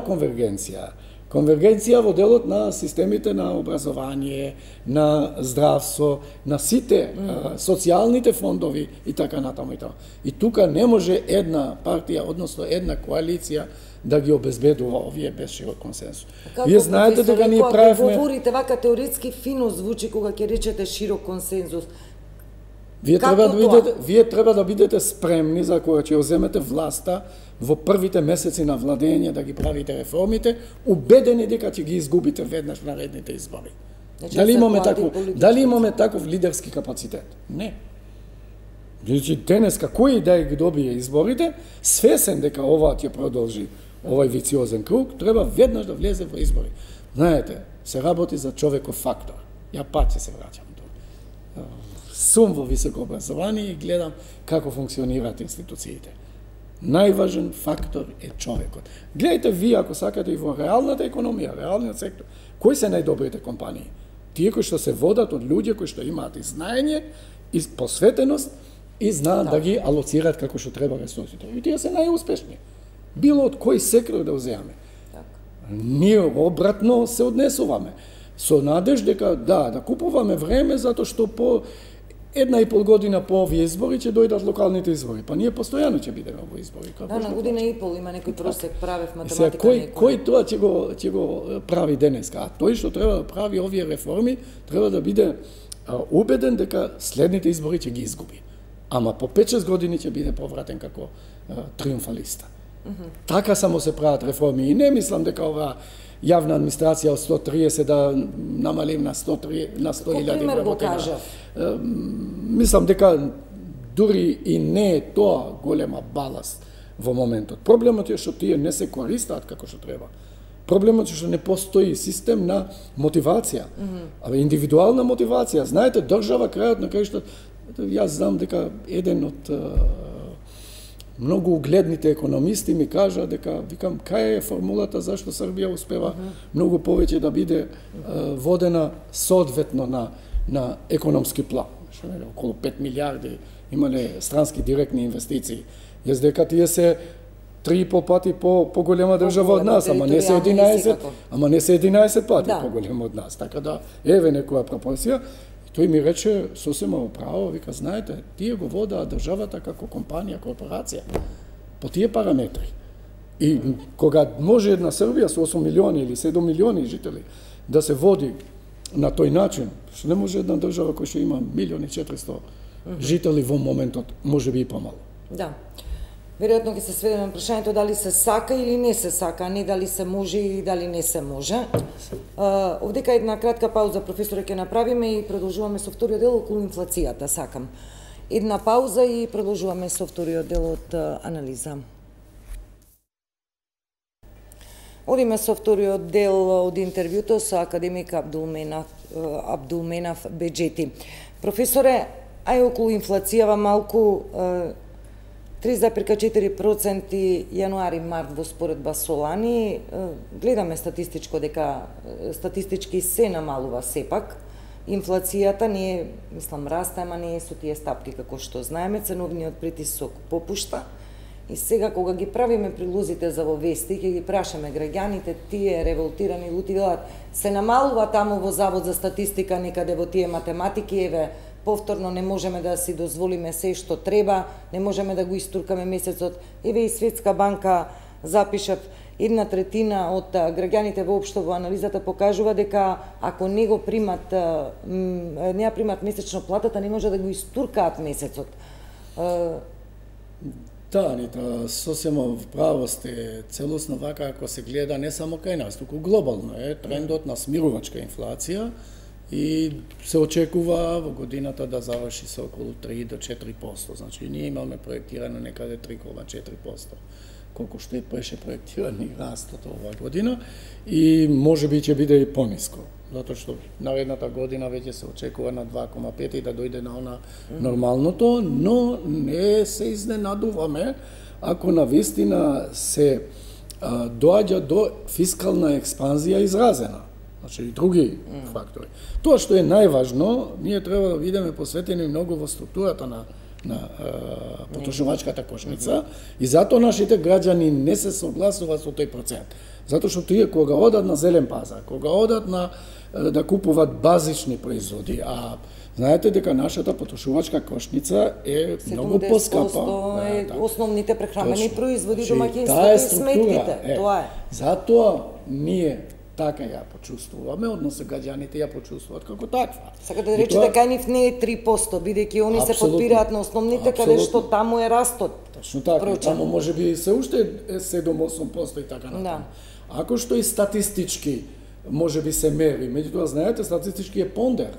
конвергенција во делот на системите на образование, на здравство, на сите социјалните фондови и така натаму и така. И тука не може една партија, односно една коалиција да ги обезбедува овие без широк консенсус. Вие знаете дека ние правиме... Говорите вака теоретски фино звучи кога ќе речете широк консензус. Вие треба да бидете спремни за кога ќе земете власта во првите месеци на владење да ги правите реформите, убедени дека ќе ги изгубите веднаш на редните избори. Дали имаме таков лидерски капацитет? Не. Значи денеска кој да ги добие изборите, свесен дека ова ќе продолжи овој вициозен круг, треба веднаш да влезе во избори. Знаете, се работи за човеков фактор. Ја пак ќе се враќам до. Сум во високо образование и гледам како функционираат институциите. Најважен фактор е човекот. Гледайте вие, ако сакате, и во реалната економија, реалниот сектор, кои се најдобрите компании? Тие кои што се водат од луѓе кои што имаат и знаење, и посветеност, и знаат да ги алоцираат како што треба ресурсите. И тие се најуспешни. Било од кој сектор да уземаме. Ние обратно се однесуваме. Со надеж дека да купуваме време затоа што по 1,5 година по овие избори ќе дојдат локалните избори. Па ние постојано ќе бидеме во избори. На година и пол има некој просек, правев математика. Кој тоа ќе го прави денеска? А тој што треба да прави овие реформи, треба да биде убеден дека следните избори ќе ги изгуби. Ама по 5-6 години ќе биде повратен како триумфалиста. Така само се прават реформи. И не мислам дека ова јавна администрација од 130 да намалим на 100.000 вработени. Мислам дека дури и не е тоа голема баласт во моментот. Проблемот е што тие не се користаат како што треба. Проблемот е што не постои систем на мотивација. Индивидуална мотивација. Знаете, држава крајот на крајштот, јас знам дека еден од многу угледните економисти ми кажа дека, викам, кај е формулата зашто Србија успева многу повеќе да биде водена соодветно на економски план. Околу 5 милиарди имале странски директни инвестиции. Јас дека тие се 3,5 пати по-голема држава од нас, ама не се 11 пати по-голема од нас. Така да, еве некоја пропорција. Тој ми рече сосема управо, вика, знаете, тие го водаат државата како компанија, корпорација, по тие параметри. И кога може една Србија со 8 милиони или 7 милиони жители да се води на тој начин, што не може една држава која што има 1.400.000 жители во моментот, може би и помало. Да. Веројатно ќе се сведеме на прашањето дали се сака или не се сака, а не дали се може или дали не се може. Овдека една кратка пауза, професоре, ќе направиме и продолжуваме со вториот дел околу инфлацијата, сакам. Една пауза и продолжуваме со вториот дел од анализа. Одиме со вториот дел од интервјуто со академик Абдулменав Беџети. Професоре, ај околу инфлацијава малку 3,4% јануари-март во споредба со лани. Гледаме статистички се намалува сепак. Инфлацијата не е, мислам, расте, ама не е со тие стапки како што знаеме, ценовниот притисок попушта. И сега кога ги правиме прилозите за во вести, ќе ги прашаме граѓаните, тие револтирани лути велат, се намалува таму во Завод за статистика некаде во тие математики, еве, повторно не можеме да си дозволиме се што треба, не можеме да го истуркаме месецот. Еве и Светска банка запишав, 1/3 од граѓаните воопшто во анализата покажува дека ако не го примат, не ја примат месечно платата, не може да го истуркаат месецот. Да, Анита, сосема вправо сте, целосно вака ако се гледа не само кај нас, туку глобално е трендот на смирувачка инфлација и се очекува во годината да заврши со околу 3 до 4%. Значи, ние имаме проектирано некаде 3,4%, колку што беше проектиран и растот оваа година, и можеби ќе биде и пониско, затоа што наредната година веќе се очекува на 2,5 и да дојде на она нормалното, но не се изненадуваме ако навистина се доаѓа до фискална експанзија изразена. Значи и други фактори. Тоа што е најважно, ние треба да бидеме посветени многу во структурата на потрошувачката кошница и затоа нашите граѓани не се согласуваат со тој процент. Затоа што тие кога одат на зелен пазар, кога одат на да купуваат базични производи, а знаете дека нашата потрошувачка кошница е многу поскапа. 70% е основните прехрамени производи, домаќинствата таа и сметките. Тоа е. Затоа ние така ја почувствуваме, односно граѓаните ја почувствуваат како таква. Сака да речете кај нив не е 3%, бидејќи они се подпираат на основните, каде што таму е растот. Точно така, таму можеби се уште 7-8% и така натаму. Ако што и статистички можеби се мери, меѓутоа знаете, статистички е пондер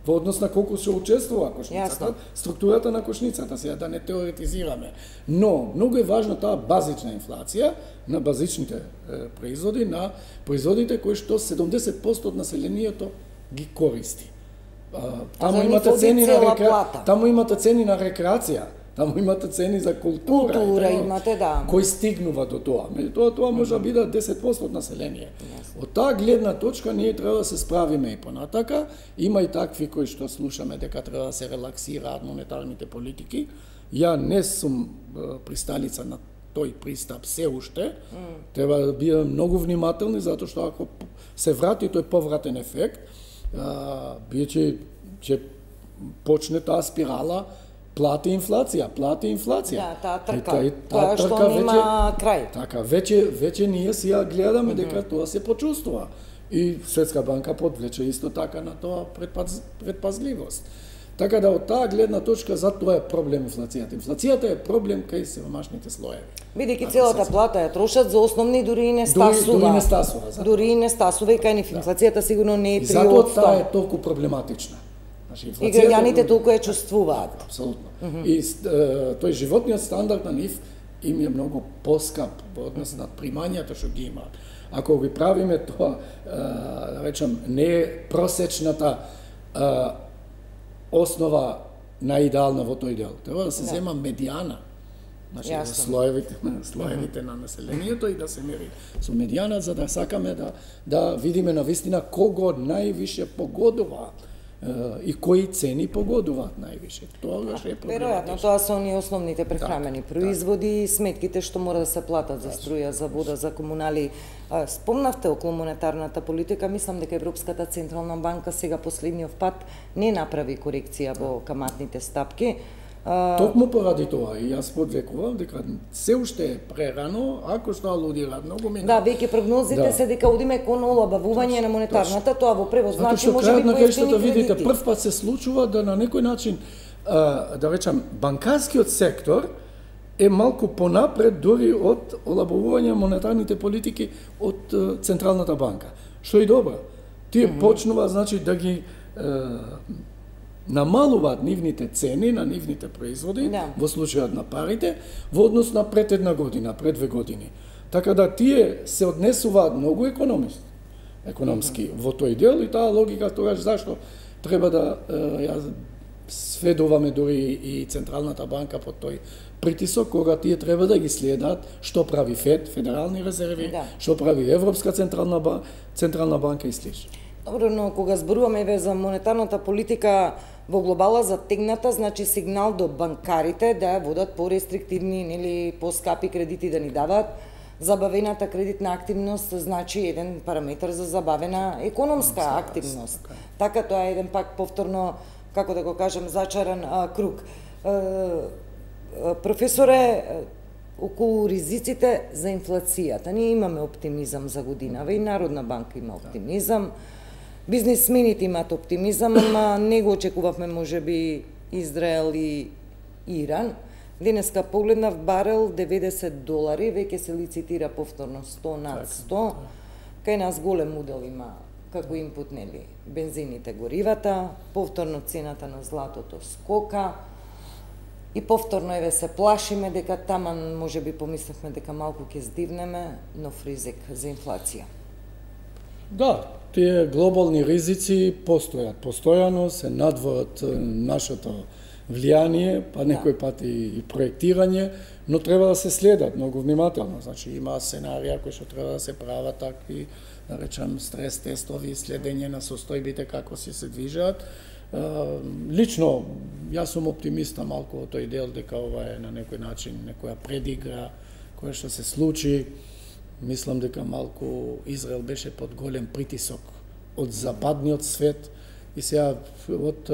во однос на колку се учествува кошницата, структурата на кошницата, сега да не теоретизираме. Но, многу е важна таа базична инфлација на базичните производи, на производите кои што 70% од населението ги користи. Таму имате цени на рекреација, таму имате цени за култура имате, да. Кои стигнува до тоа. Меѓутоа, тоа може да биде 10% од население. Од таа гледна точка ние треба да се справиме и понатака. Има и такви кои што слушаме дека треба да се релаксираат монетарните политики. Ја не сум присталица на тој пристап се уште. Треба да бидеме многу внимателни, затоа што ако се врати тој повратен ефект, ќе почне таа спирала плати инфлација. Да, таа трка. Тоа што нема крај. Така, веќе ние си ја гледаме дека тоа се почувствува. И Светска банка подвлече исто така на тоа предпазливост. Така да од таа гледна точка затоа е проблем инфлацијата. Инфлацијата е проблем кај сиромашните слоеви. Бидејќи целата плата ја трошат за основни, дури и не стасува. Дури и не стасува и кај нив инфлацијата сигурно не е 3%. Затоа таа е толку проблематична. И граѓаните толку ја чувствуваат. Апсолутно. И тој животниот стандард на нив им е многу поскап во однос на примањата што ги имаат. Ако ги правиме тоа, да речам, не е просечната основа наидеална во тој дел. Треба да се зема медијана. Значи, слоевите на населението и да се мери со медијана, за да сакаме да видиме навистина кого највише погодува и кои цени погодуваат највише. Тоа е проблематично. Веројатно, тоа се оние основните прехрамени производи и сметките што мора да се платат за струја, за вода, за комунали. Спомнавте околу монетарната политика, мислам дека Европската централна банка сега последниот пат не направи корекција во каматните стапки. Токму поради тоа и јас подвекувам дека се уште е прерано, ако што алудираат многу мина. Да, веќе прогнозите се дека одиме кон олабавување на монетарната, тоа во превод значи можеби поевтини кредити. Видите, прв пат се случува да на некој начин, да речам, банкарскиот сектор е малку понапред дури од олабавување монетарните политики од Централната банка. Што е добро. Тие почнува, значи, да ги намалуваат нивните цени на нивните производи, во случајот на парите, во однос на пред една година, пред 2 години. Така да тие се однесуваат многу економски во тој дел, и таа логика тогаш зашто треба да ја сведуваме дури и Централната банка под тој притисок, кога тие треба да ги следат што прави ФЕД, Федерални резерви, што прави Европска централна банка и слично. Добро, но кога зборуваме за монетарната политика во глобала затегната, значи сигнал до банкарите да ја водат порестриктивни или поскапи кредити да ни дават. Забавената кредитна активност значи еден параметар за забавена економска активност. Така тоа е еден пак повторно, како да го кажам, зачаран круг. Професоре, околу ризиците за инфлацијата, ние имаме оптимизам за годинава и Народна банка има оптимизам. Бизнисмените имаат оптимизам, ама не го очекувавме можеби Израел и Иран. Денеска погледнав барел $90, веќе се лицитира повторно 100 над 100. Кај нас голем удел има како инпут, нели, бензините, горивата, повторно цената на златото скока. И повторно еве се плашиме дека таман можеби помислевме дека малку ќе здивнеме, нов ризик за инфлација. Да, тие глобални ризици постојат. Постојано се надворат нашето влијание, па некој пат и проектирање, но треба да се следат многу внимателно. Значи има сценарија кои што треба да се прават такви, да речам, стрес тестови, следење на состојбите како се движат. Лично, јас сум оптимиста малку во тој дел дека ова е на некој начин некоја предигра која што се случи. Мислам дека малку Израел беше под голем притисок од западниот свет и сега од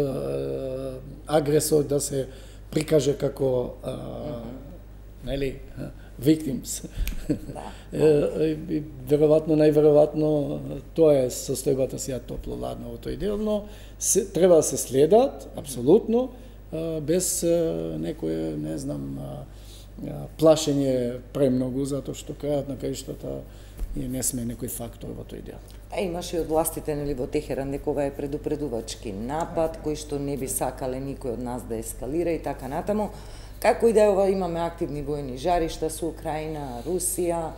агресор да се прикаже како нели victims. Веројатно, најверојатно тоа е состојбата сега топло-ладно во тој дел, но треба да се следат апсолутно без некое, не знам, плашење премногу, затоа што крајот на краиштата ние не сме некој фактор во тој дел. Имаше и од властите, нели, во Техеран дека ова е предупредувачки напад кој што не би сакале никој од нас да ескалира и така натаму. Како и да е, имаме активни војни жаришта со Украина, Русија,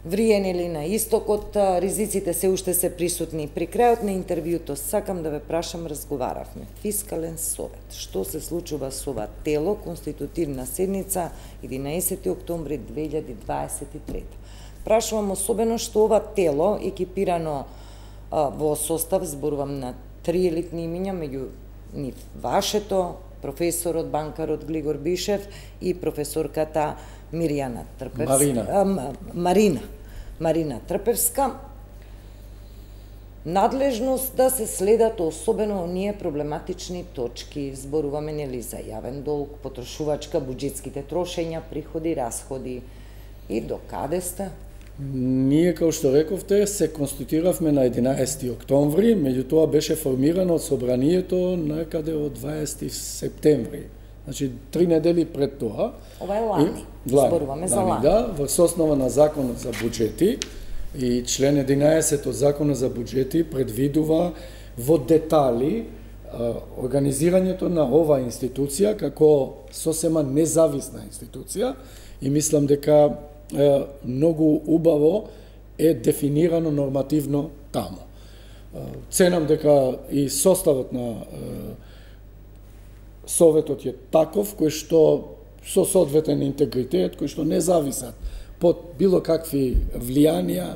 врие, нели, на истокот, ризиците се уште се присутни. При крајот на интервјуто сакам да ве прашам, разговаравме. Фискален совет. Што се случува со ова тело, конститутивна седница 11 октомври 2023. Прашувам особено што ова тело, екипирано во состав, зборувам на 3 елитни имиња, меѓу нив вашето, професорот, банкарот Глигор Бишев и професорката Миријана Трпевска. Марина Трпевска. Надлежност да се следат особено оние проблематични точки. Зборуваме, нели, за јавен долг, потрошувачка, буџетските трошења, приходи, расходи. И до каде сте? Ние, како што рековте, се конституиравме на 11 октомври, меѓутоа беше формирано од собранието некаде од 20 септември. Значи, 3 недели пред тоа. Ова е лани. Зборуваме за лани. Да, во соснова на Законот за буџети и член 11 од Законот за буџети предвидува во детали организирањето на оваа институција како сосема независна институција и мислам дека многу убаво е дефинирано нормативно таму. Ценам дека и составот на Советот е таков, кој што со соодветен интегритет, кој што не зависат под било какви влијанија,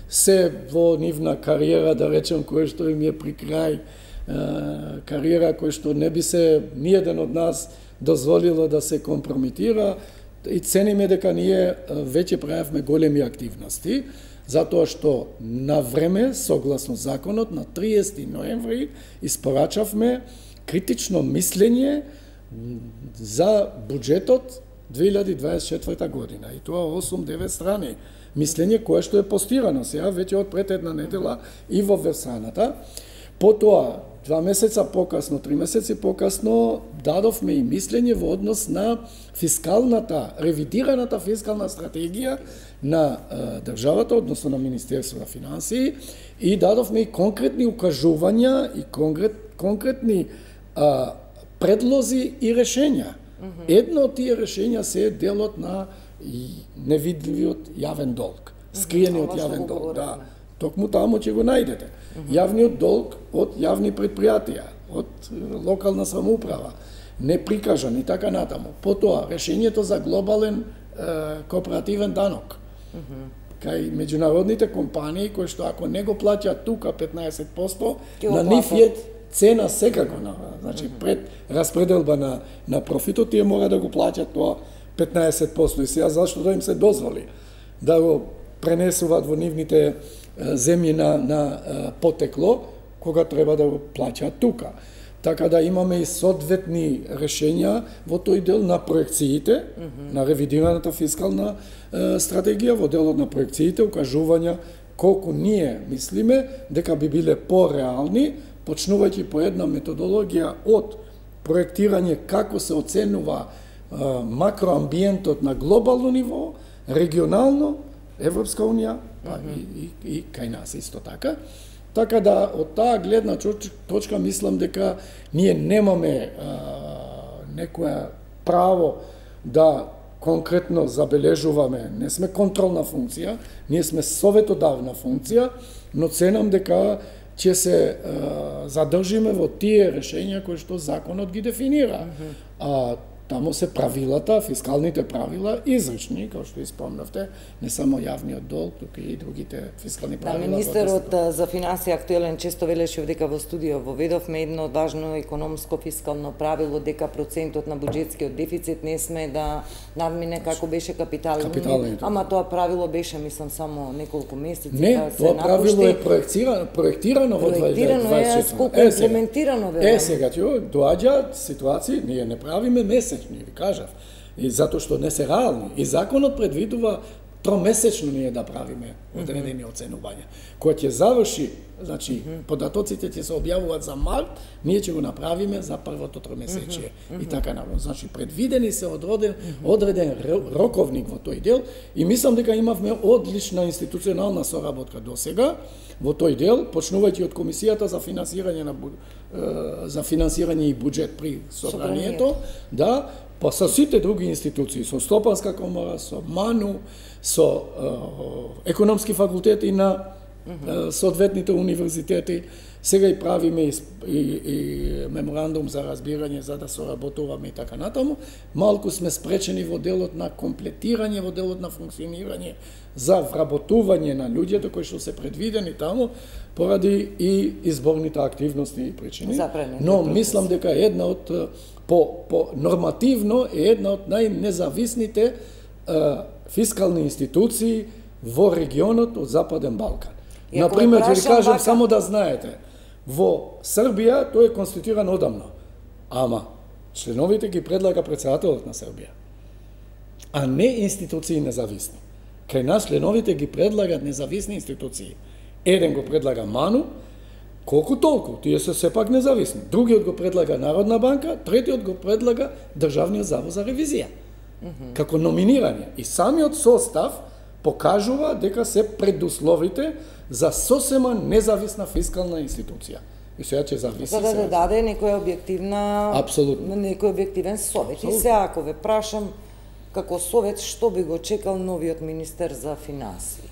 се во нивна кариера, да речем, кој што им е при крај, кариера кој што не би се ниеден од нас дозволило да се компрометира, и цениме дека ние веќе правевме големи активности, затоа што на време, согласно законот, на 30 ноември испорачавме критично мислење за буџетот 2024 година. И тоа 8-9 страни мислење кое што е постирано сега веќе од пред една недела и во вебсајната. Потоа 2 месеца покасно, 3 месеци покасно, дадовме и мислење во однос на фискалната, ревидираната фискална стратегија на државата, односно на Министерство на финансии, и дадовме и конкретни укажувања и конкретни предлози и решења. Едно од тие решења се делот на невидливиот јавен долг, скриениот јавен долг, да. Токму таму ќе го најдете. Јавниот долг од јавни предпријатија, од локална самоуправа, не прикажан и така натаму. Потоа, решењето за глобален кооперативен данок. Кај меѓународните компании, кои што ако не го плаќаат тука 15%, на нив е цена секако. Значи, пред распределба на профитот, тие мора да го плаќат тоа 15%. И сега зашто да им се дозволи да го пренесуваат во нивните земји на потекло, кога треба да го плаќаат тука. Така да имаме и соодветни решења во тој дел на проекциите, на ревидираната фискална стратегија, во делот на проекциите, укажувања колку ние мислиме дека би биле пореални, почнувајќи по една методологија од проектирање како се оценува макроамбиентот на глобално ниво, регионално, Европска унија, па и кај нас исто така. Така да, од таа гледна точка, мислам дека ние немаме некоја право да конкретно забележуваме, не сме контролна функција, ние сме советодавна функција, но ценам дека ќе се задржиме во тие решења кои што законот ги дефинира. А таму се правилата, фискалните правила изрични, како што испомнавте, не само јавниот долг, туку и другите фискални правила. Министерот за финансии актуелен често велеше дека во студио воведовме едно важно економско фискално правило, дека процентот на буџетскиот дефицит не сме да надмине како беше капиталниот. Ама тоа правило беше, мислам, само неколку месеци. Не, тоа правило е проектирано во 2024. Сколку имплементирано ве. Сега доаѓаат ситуации, ние не правиме месечни, ви кажав, и затоа што не се реални. И законот предвидува тромесечно ние да правиме одредени оценувања. Кога ќе заврши, значи, податоците ќе се објавуваат за март, ние ќе го направиме за првото тромесечие. И така наваму. Значи, предвидени се одреден роковник во тој дел и мислам дека имавме одлична институционална соработка до сега во тој дел, почнувајќи од Комисијата за финансирање и буџет при собранието, да, па со сите други институции, со Стопанска комора, со МАНУ, со економски факултети на соодветните универзитети. Сега и правиме и меморандум за разбирање за да соработуваме и така натаму. Малку сме спречени во делот на комплетирање, во делот на функционирање за вработување на луѓето кои што се предвидени таму поради и изборните активности и причини. Но мислам дека една од по нормативно е една од најнезависните фискални институции во регионот од Западен Балкан. Например, ќе ви кажам само да знаете, во Србија тој е конституиран одамно, ама членовите ги предлага претседателот на Србија, а не институции независни. Кај нас членовите ги предлагат независни институции. Еден го предлага МАНУ, колку толку, тие се сепак независни. Другиот го предлага Народна банка, третиот го предлага Државниот завод за ревизија. Како номинирање. И самиот состав покажува дека се предусловите за сосема независна фискална институција. И сега ќе зависи. За да даде некоја објективна, апсолутно, некој објективен совет. И сега ако ве прашам како совет, што би го чекал новиот министер за финансии?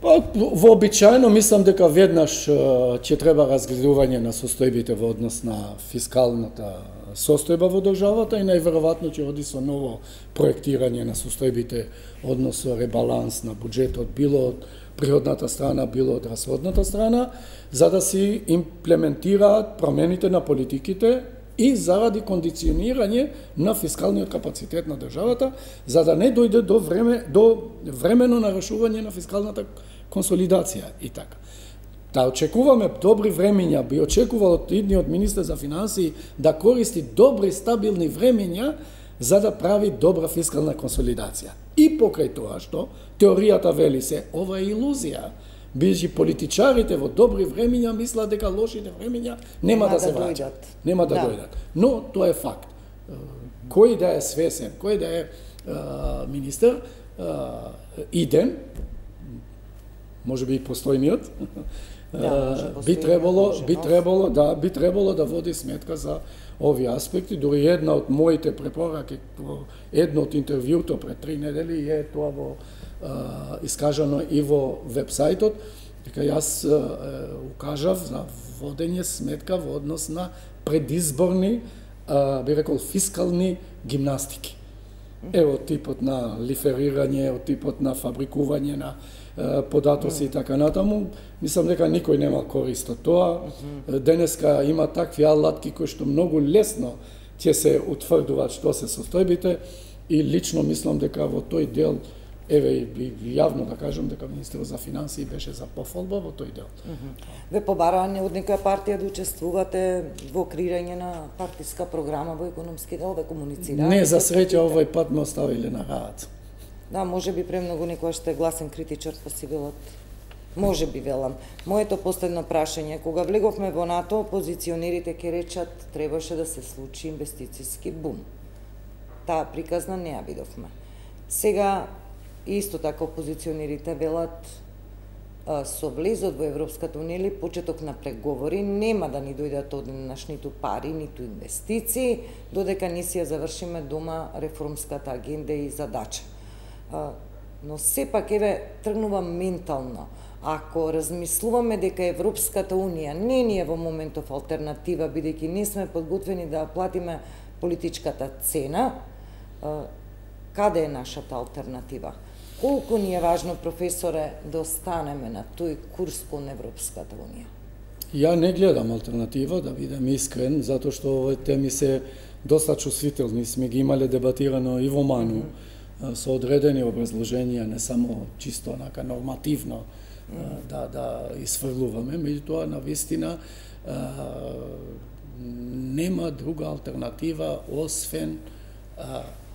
Па, вообичаено мислам дека веднаш ќе треба разгледување на состојбите во однос на фискалната состојба во државата и најверојатно ќе оди со ново проектирање на состојбите, односно ребаланс на буџетот, било од приходната страна, било од расходната страна, за да се имплементираат промените на политиките и заради кондиционирање на фискалниот капацитет на државата, за да не дојде до времено нарушување на фискалната консолидација и така. Да очекуваме добри времења, би очекувал од идниот министер за финансии да користи добри стабилни времења за да прави добра фискална консолидација. И покрај тоа што теоријата вели се, ова е илузија. Бидејќи политичарите во добри времења мислат дека лошите времења нема да се враќаат. Нема да дојдат. Но тоа е факт. Кој да е свесен, кој да е министер, иден, може би и постојниот, би требало да води сметка за овие аспекти. Дури една од моите препораки во едно од интервјуто пред 3 недели е тоа во искажано и во вебсајтот, дека јас укажав за водење сметка во однос на предизборни, би рекол, фискални гимнастики. Ево типот на лиферирање, од типот на фабрикување на податоци и така натаму. Мислам дека никој нема корист од тоа. Денеска има такви алатки кои што многу лесно ќе се утврдуваат што се состојбите и лично мислам дека во тој дел, еве јавно да кажам дека Министерот за финансии беше за пофолба во тој дел. Ве побараа од некоја партија да учествувате во креирање на партиска програма во економски дел, да комуницираат? Не, за среќа овој пат ме оставиле на раат. Да, може би премногу некојаш сте гласен критичар, па си велат. Може би, велам. Моето последно прашање, кога влеговме во НАТО, опозиционерите ќе речат требаше да се случи инвестициски бум. Таа приказна не ја видовме. Сега исто така опозиционерите велат со влезот во Европската унија или почеток на преговори нема да ни дојдат одненаш ниту пари, ниту инвестиции, додека не си ја завршиме дома реформската агенда и задача. Но сепак еве тргнува ментално. Ако размислуваме дека Европската унија не ни е во моментов алтернатива, бидејќи не сме подготвени да платиме политичката цена, каде е нашата алтернатива? Колку ни е важно, професоре, да останеме на тој курс кон Европската унија? Ја не гледам алтернатива, да бидам искрен, затоа што овие теми се доста чувствителни, сме ги имале дебатирано и во МАНУ, со одредени образложенија, не само чисто онака нормативно да изфрлуваме, меѓутоа навистина нема друга алтернатива освен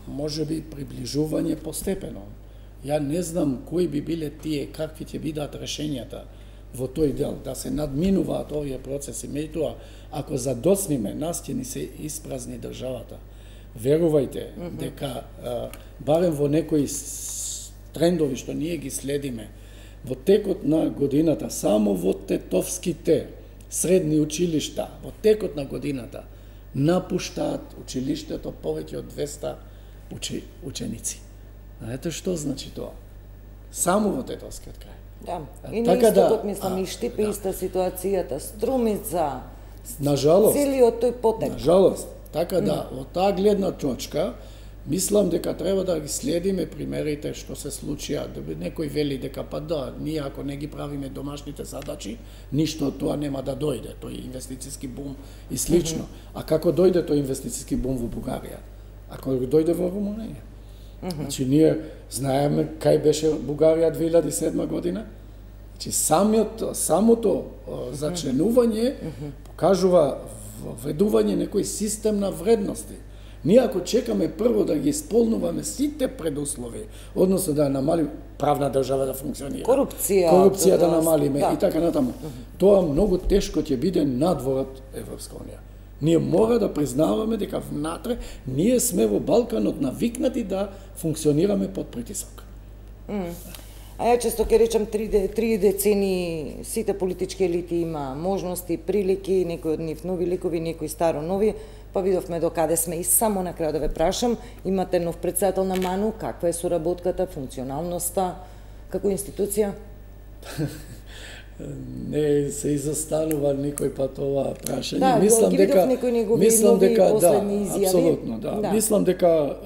можеби приближување постепено. Ја не знам кои би биле тие, какви ќе бидат решењата во тој дел, да се надминуваат овие процеси. Меѓутоа, ако задоцниме, нас ќе ни се испразни државата. Верувајте дека барем во некои трендови што ние ги следиме, во текот на годината, само во тетовските средни училишта, во текот на годината, напуштаат училиштето повеќе од 200 ученици. Знаете што значи тоа? Само во тетовскиот крај. Да, и на истокот мислам и Штипе иста ситуацијата, Струмица, целиот тој потек. Нажалост, така да, од таа гледна точка, мислам дека треба да ги следиме примерите што се случија. Некој вели дека па да, ние ако не ги правиме домашните задачи, ништо од тоа нема да дојде, тој инвестициски бум и слично. А како дојде тој инвестициски бум во Бугарија? Ако дојде во Румунија? Значи, ние знаеме кај беше Бугарија 2007 година. Значи, самото зачленување покажува введување некој систем на вредности. Ние ако чекаме прво да ги исполнуваме сите предуслови, односно да намалиме правна држава да функционира, корупција да намалиме и така натаму, тоа многу тешко ќе биде надворот Европска унија. Ние мора да признаваме дека внатре ние сме во Балканот навикнати да функционираме под притисок. А ја често ќе речам 3 децени сите политички елити има можности, прилики, некои од нив нови ликови, некои старо нови, па видовме до каде сме и само на крај да ве прашам, имате нов председател на МАНУ, каква е соработката, функционалноста, како институција? Не се изостанува никој пат ова прашање. Да, мислам дека мислам дека апсолутно, да. Мислам дека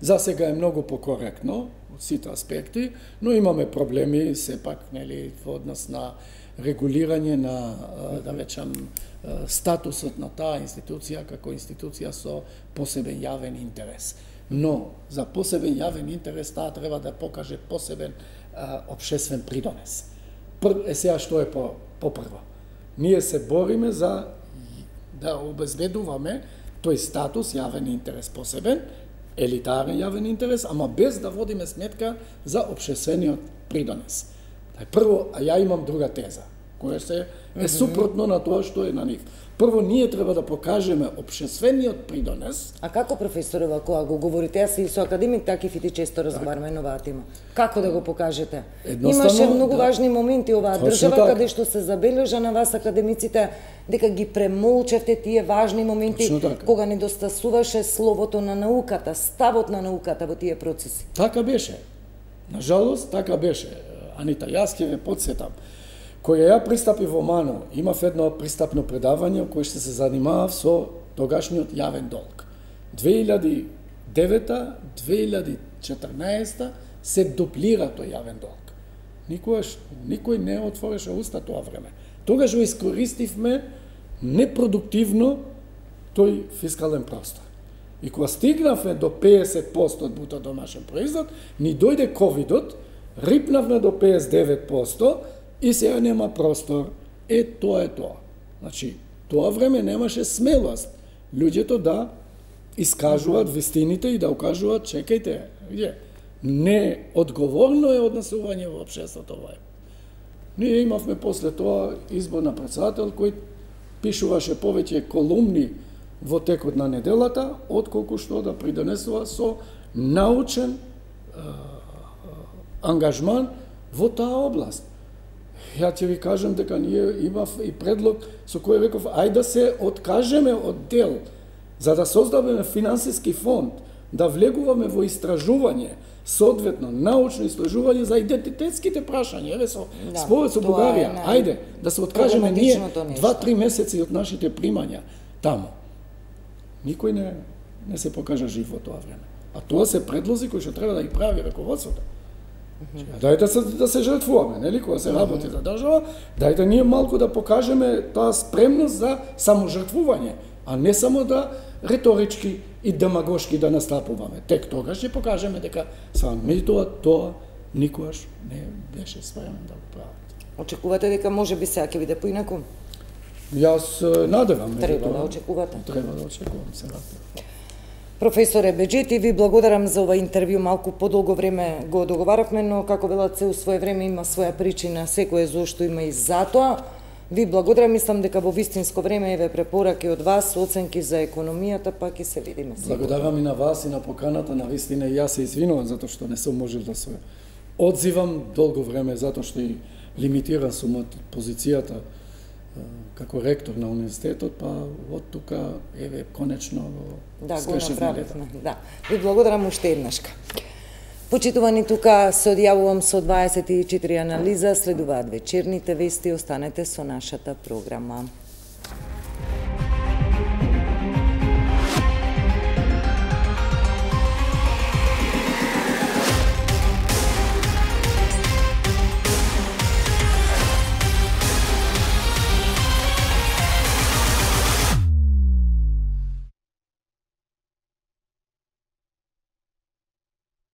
за сега е многу покоректно од сите аспекти, но имаме проблеми сепак, нели, во однос на регулирање на да речам статусот на таа институција како институција со посебен јавен интерес. Но за посебен јавен интерес таа треба да покаже посебен општествен придонес. Сега што е попрво? Ние се бориме за да обезбедуваме тој статус јавен интерес посебен, елитарен јавен интерес, ама без да водиме сметка за општествениот придонес. Прво, а ја имам друга теза. кое се е супротно на тоа што е на нив. Прво, ние треба да покажеме општествениот придонес. А како, професоре, кога го говорите, јас и со академик Такив и ти често разговараме на оваа тема. Како да го покажете? Имаше многу важни моменти оваа држава, каде што се забележа на вас академиците дека ги премолчевте тие важни моменти, кога недостасуваше словото на науката, ставот на науката во тие процеси. Така беше. На жалост, така беше. Анита, јас ќе ве потсетам. Кога ја пристапи во МАНО, имав едно пристапно предавање кој што се занимавав со тогашниот јавен долг. 2009-2014 се дуплира тој јавен долг. Никој не отвореше уста тоа време. Тогаш го искористивме непродуктивно тој фискален простор. И кога стигнавме до 50% од бруто домашен производ, ни дојде ковидот, рипнавме до 59%, и сега нема простор. Тоа е тоа. Значи, тоа време немаше смелост луѓето да искажуваат вистините и да укажуваат, чекајте, не одговорно е однесување во општеството ова. Ние имавме после тоа избор на претседател кој пишуваше повеќе колумни во текот на неделата, отколку што да придонесува со научен ангажман во таа област. Ја ќе ви кажам дека ние имав и предлог со кој реков ајде да се откажеме од дел за да создадеме финансиски фонд, да влегуваме во истражување, соодветно научно истражување за идентитетските прашања, еве со според со Бугарија, ајде да се откажеме ние 2-3 месеци од нашите примања таму. Никој не се покажа жив во тоа време. А тоа се предлози кои што треба да ги прави раководството. Дајте да се жртвуваме, нели, кога се работи за држава, дајте ние малку да покажеме таа спремност за саможртвување, а не само да риторички и демагошки да настапуваме. Тек тогаш ќе покажеме дека меѓутоа тоа никогаш не беше спремен да го прават. Очекувате дека можеби сега ќе биде поинаку? Јас надевам. Треба да очекувате. Треба да очекувам сега. Професоре Беџети, ви благодарам за ова интервју. Малку подолго време го договаравме, но како велат се у свое време има своја причина, секој зошто има и затоа. Ви благодарам, мислам дека во вистинско време еве препораки од вас, оценки за економијата, па ќе се видиме. Благодарам и на вас и на поканата, на вистина јас се извинувам затоа што не сум можел да се одзивам долго време затоа што и лимитиран сум од позицијата како ректор на универзитетот, па од тука еве конечно го направивме. Да. Ви благодарам уште еднашка. Почитувани, тука се одјавувам со 24 анализа, следуваат вечерните вести, останете со нашата програма.